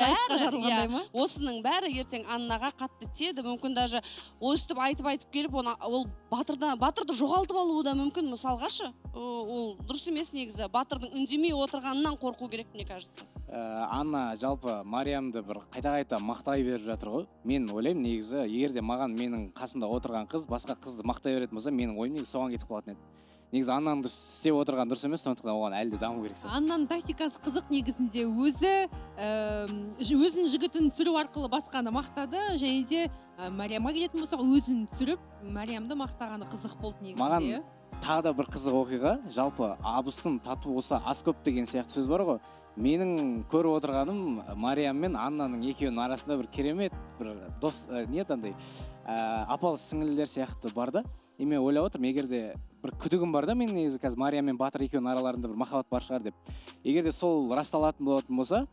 S16: бәрі ертең Аннаға қатты тиеді. Мүмкін даже өстіп айтып келіп, ол Батырды жоғалтып алуы да мүмкін. Мысалғашы, ол дұрыс емес негізі. Батырдың үндемей отырғанынан қорқу керек, мне кажется.
S8: Анна жалпы Мариямды бір қайта мақтай беріп жатыр ғой. Мен ойлаймын негізі, егер де маған менің қасымда отырған қыз басқа қызды мақтай беретін болса, менің ойым негізі соған кетіп қалатын еді. Негізі Аннаның істеп отырған дұрыс емес, сондықтан оған әлі де даму керек.
S1: Аннаның тактикасы қызық негізінде, өзінің жігітін түсіру арқылы басқаны мақтады, және де Мариямға келетін болсақ, өзін түсіріп, Мариямды мақтағаны қызық болды негізінде.
S8: Маған тағы да бір қызық оқиға, жалпы абысын тату болса ас көп деген сияқты сөз бар ғой. Менің көріп отырғаным Мариям мен Аннаның екеуінің арасында бір керемет, бір дос, апалы сіңілілер сияқты бар да. Мен ойлап отырмын, егер де бір күдігім бар да, мен негізі қазір Мариям мен Батыр екеуінің араларында бір махаббат бар шығар деп. Егер де сол расталатын болатын болса,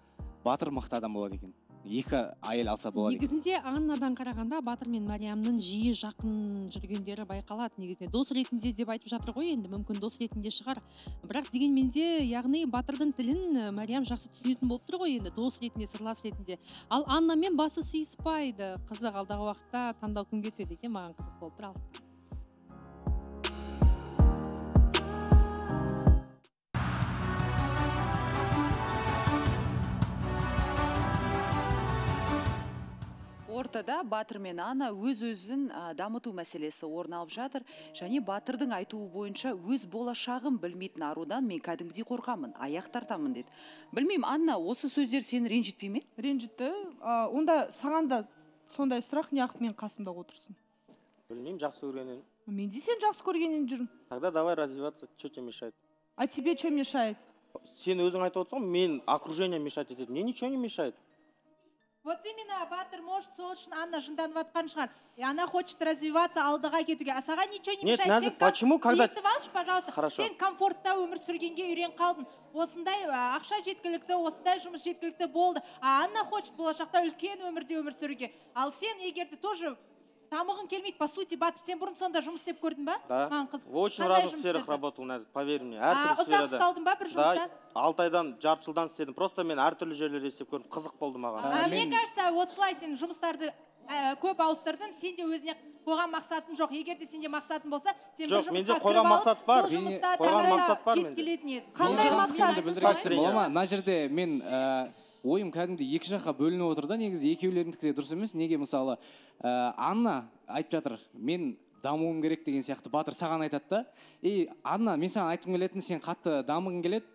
S8: Батыр мықты адам болады екен. Екі әйел алса болады екен.
S1: Негізінде Аннадан қарағанда Батыр мен Мариямның жиі жақын жүргендері байқалады. Негізінде дос ретінде деп айтып жатыр ғой, енді мүмкін дос ретінде шығар. Бірақ дегенмен де, яғни Батырдың тілін Мариям жақсы түсінетін болып тұр ғой, енді дос ретінде, сырлас ретінде. Ал Аннамен басы сыйыспайды. Қызық, алдағы уақытта таңдау кімге түседі екен, маған қызық болып тұр.
S4: ортада Батыр мен Анна өз-өзін дамыту мәселесі орын алып жатыр. Және Батырдың айтуы бойынша өз болашағын білмейтін арудан мен кәдімгідей қорқамын, аяқ тартамын деді. Білмеймін, Анна, осы сөздер сені ренжітпей ме?
S11: Ренжітті. Онда саған да сондай сұрақ неғып мен қасымда отырсың?
S12: Білмеймін, жақсы көргеннен.
S11: Мен де сен жақсы көргеннен жүрмін.
S12: Тогда давай развиваться, что тебе мешает?
S11: А тебе что мешает?
S12: Сен өзің айтып отырсың, мен окружение мешать етеді. Мне ничего не мешает.
S13: Вот именно Батыр может сол үшін Анна жынданып жатқан шығар. И она хочет развиваться, алдыға кетуге. А саған ничего не мешает.
S12: Нет, Назик, почему, когда...
S13: Естіп алшы, пожалуйста.
S12: Хорошо.
S13: Сен комфортта өмір сүргенге үйрен қалдың. Осындай ақша жеткілікті, осындай жұмыс жеткілікті болды. А Анна хочет болашақта үлкен өмірде өмір сүруге. Ал сен егерде тоже дамығың келмейді. По сути, Батыр, сен бұрын сонда жұмыс істеп көрдің ба?
S12: Да. В очень разных сферах работал, Назик, поверь мне. Әртүрлі сферада.
S13: Ұзақ ұсталдың ба бір жұмыста?
S12: Да, 6 айдан, жарты жылдан істедім. Просто мен әртүрлі жерлерде істеп көрдім. Қызық болды маған.
S13: Мне кажется, осылай сен жұмыстарды көп ауыстырдың, сенде өзіне қойған мақсатың жоқ. Егер де сенде мақсатың болса, сен бір жұмысқа кіріп алып, сол жұмыста таңдайға жеткілетін еді.
S11: Қандай мақсат?
S8: Мына жерде мен ойым кәдімгі екі жаққа бөлініп отыр да, негізі екеулеріңдікі де дұрыс емес. Неге мысалы Анна айтып жатыр, мен дамуым керек деген сияқты Батыр саған айтады да. Анна, мен саған айтқым келетін, сен қатты дамығың келеді,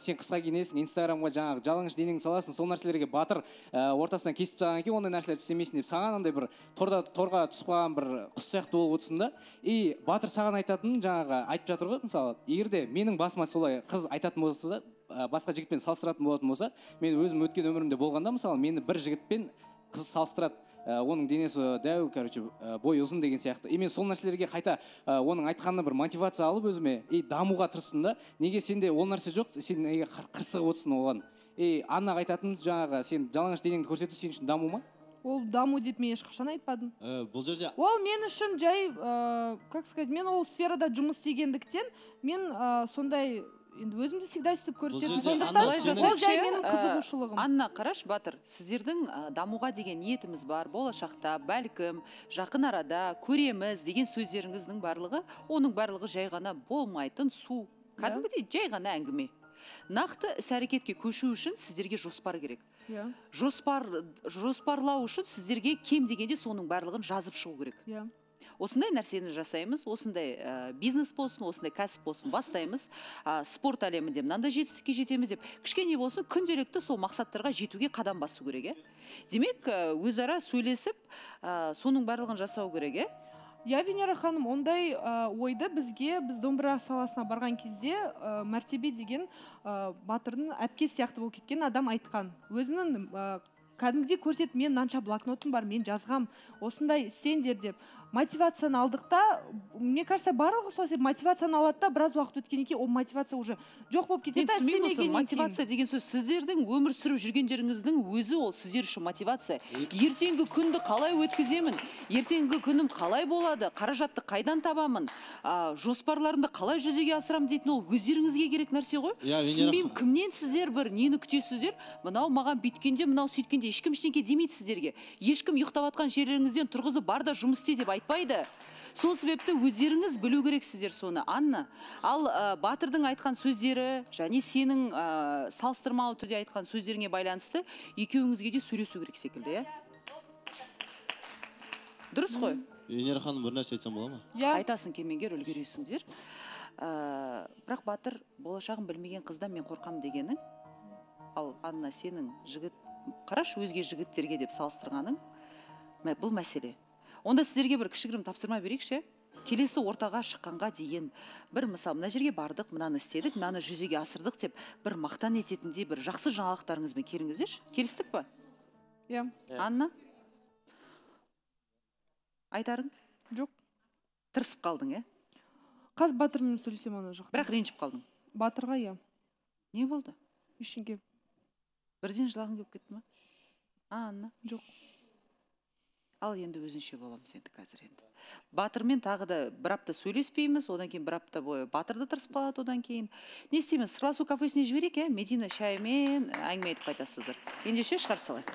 S8: сен қысқа киінесің, инстаграмға жаңағы жалаңаш денеңді саласың, сол нәрселерге Батыр ортасынан кесіп тастаған екен, ондай нәрселерді істемейсің деп саған андай бір торға түсіп қалған бір құс сияқты болып отырсың да. Батыр саған айтатын жаңағы айтып жатыр ғой, мысалы, егер де менің басыма солай қыз айтатын болса да, басқа жігітпен салыстыратын болатын болса, мен өзім өткен өмірімде болғанда, мысалы, мені бір жігітпен қыз салыстырады, оның денесі дәу, бой ұзын деген сияқты. Мен сол нәрселерге қайта оның айтқанына бір мотивация алып өзіме дамуға тырыстым да. Неге сенде ол нәрсе жоқ, сен қырсығып отырсың оған. Аннаға айтатын жаңағы сен жалаңаш денеңді көрсету сен үшін даму ма?
S11: Ол даму деп мен ешқашан айтпадым.
S6: Бұл жерде
S11: ол мен үшін жай, как сказать, мен ол сферада жұмыс істегендіктен мен сондай енді өзімді всегда істеп көрсетемін. Сондықтан ол жай менің қызығушылығым.
S4: Анна, қараш, Батыр, сіздердің дамуға деген ниетіміз бар, болашақта, бәлкім, жақын арада көреміз деген сөздеріңіздің барлығы, оның барлығы жай ғана болмайтын су. Кәдімгідей жай ғана әңгіме. Нақты іс-әрекетке көшу үшін сіздерге жоспар керек. Жоспарлау үшін сіздерге кем дегенде соның барлығын жазып шығу керек. Осындай нәрсені жасаймыз, осындай бизнес болсын, осындай кәсіп болсын, бастаймыз, спорт әлемінде мынандай жетістікке жетеміз деп, кішкене болсын күнделікті сол мақсаттарға жетуге қадам басу керек. Демек, өзара сөйлесіп, соның барлығын жасау керек.
S11: Венера ханым, ондай ойды біз домбыра саласына барған кезде мәртебе деген Батырдың әпке сияқты болып кеткен адам айтқан. Өзінің кәдімгідей көрсетіп, мен мынанша блокнотым бар, мен жазғам, осындай сендер деп. Мотивацияны алдықта, мне кажется, барлығы сол себеп мотивацияны алады да, біраз уақыт өткеннен кейін ол мотивация уже жоқ болып кетеді.
S4: Мотивация деген сөз сіздердің өмір сүріп жүргендеріңіздің өзі ол сіздер үшін мотивация. Ертеңгі күнді қалай өткіземін, ертеңгі күнім қалай болады, қаражатты қайдан табамын, жоспарларымды қалай жүзеге асырамын дейтін ол өздеріңізге керек нәрсе ғой. Түсінбеймін, кімнен сіздер бір нені күтесіздер, мынау маған бүйткенде, мынау сөйткенде ешкім ештеңе демейді сіздерге. Ешкім ұйықтап жатқан жерлеріңізден тұрғызып бар да жұмыс істе деп айтпайды. Сол себепті өздеріңіз білу керексіздер соны. Анна, ал Батырдың айтқан сөздері және сенің салыстырмалы түрде айтқан сөздеріңе байланысты екеуіңізге де сөйлесу керек секілді, дұрыс қой?
S6: Венера ханым, бір нәрсе айтсам бола ма?
S4: Айтасың, кемеңгер, үлгересіңдер. Бірақ Батыр, болашағын білмеген қыздан мен қорқам дегенің, ал Анна, сенің жігіт, қараш өзге жігіттерге деп салыстырғаның, бұл мәселе. Онда сіздерге бір кішігірім тапсырма берейікші. Келесі ортаға шыққанға дейін бір мысал, мына жерге бардық, мынаны істедік, мынаны жүзеге асырдық деп бір мақтан ететіндей бір жақсы жаңалықтарыңызбен келіңіздерші. Келістік па? Анна? Айтарың?
S11: Жоқ.
S4: Тырысып қалдың,
S11: Қазір Батырмен сөйлесем ана жақта.
S4: Бірақ ренжіп қалдың?
S11: Батырға,
S4: Не болды?
S11: Ештеңе.
S4: Бірден жылағың келіп кетті ма? Анна?
S11: Жоқ.
S4: Ал енді өзінше боламыз енді қазір енді. Батырмен тағы да бір апта сөйлеспейміз, одан кейін бір апта бойы Батырды тырысып қалады, одан кейін. Не істейміз? Сырласу кафесіне жіберейік, Медина шаймен әңгіме айтып қайтасыздар. Ендеше шығарып салайық.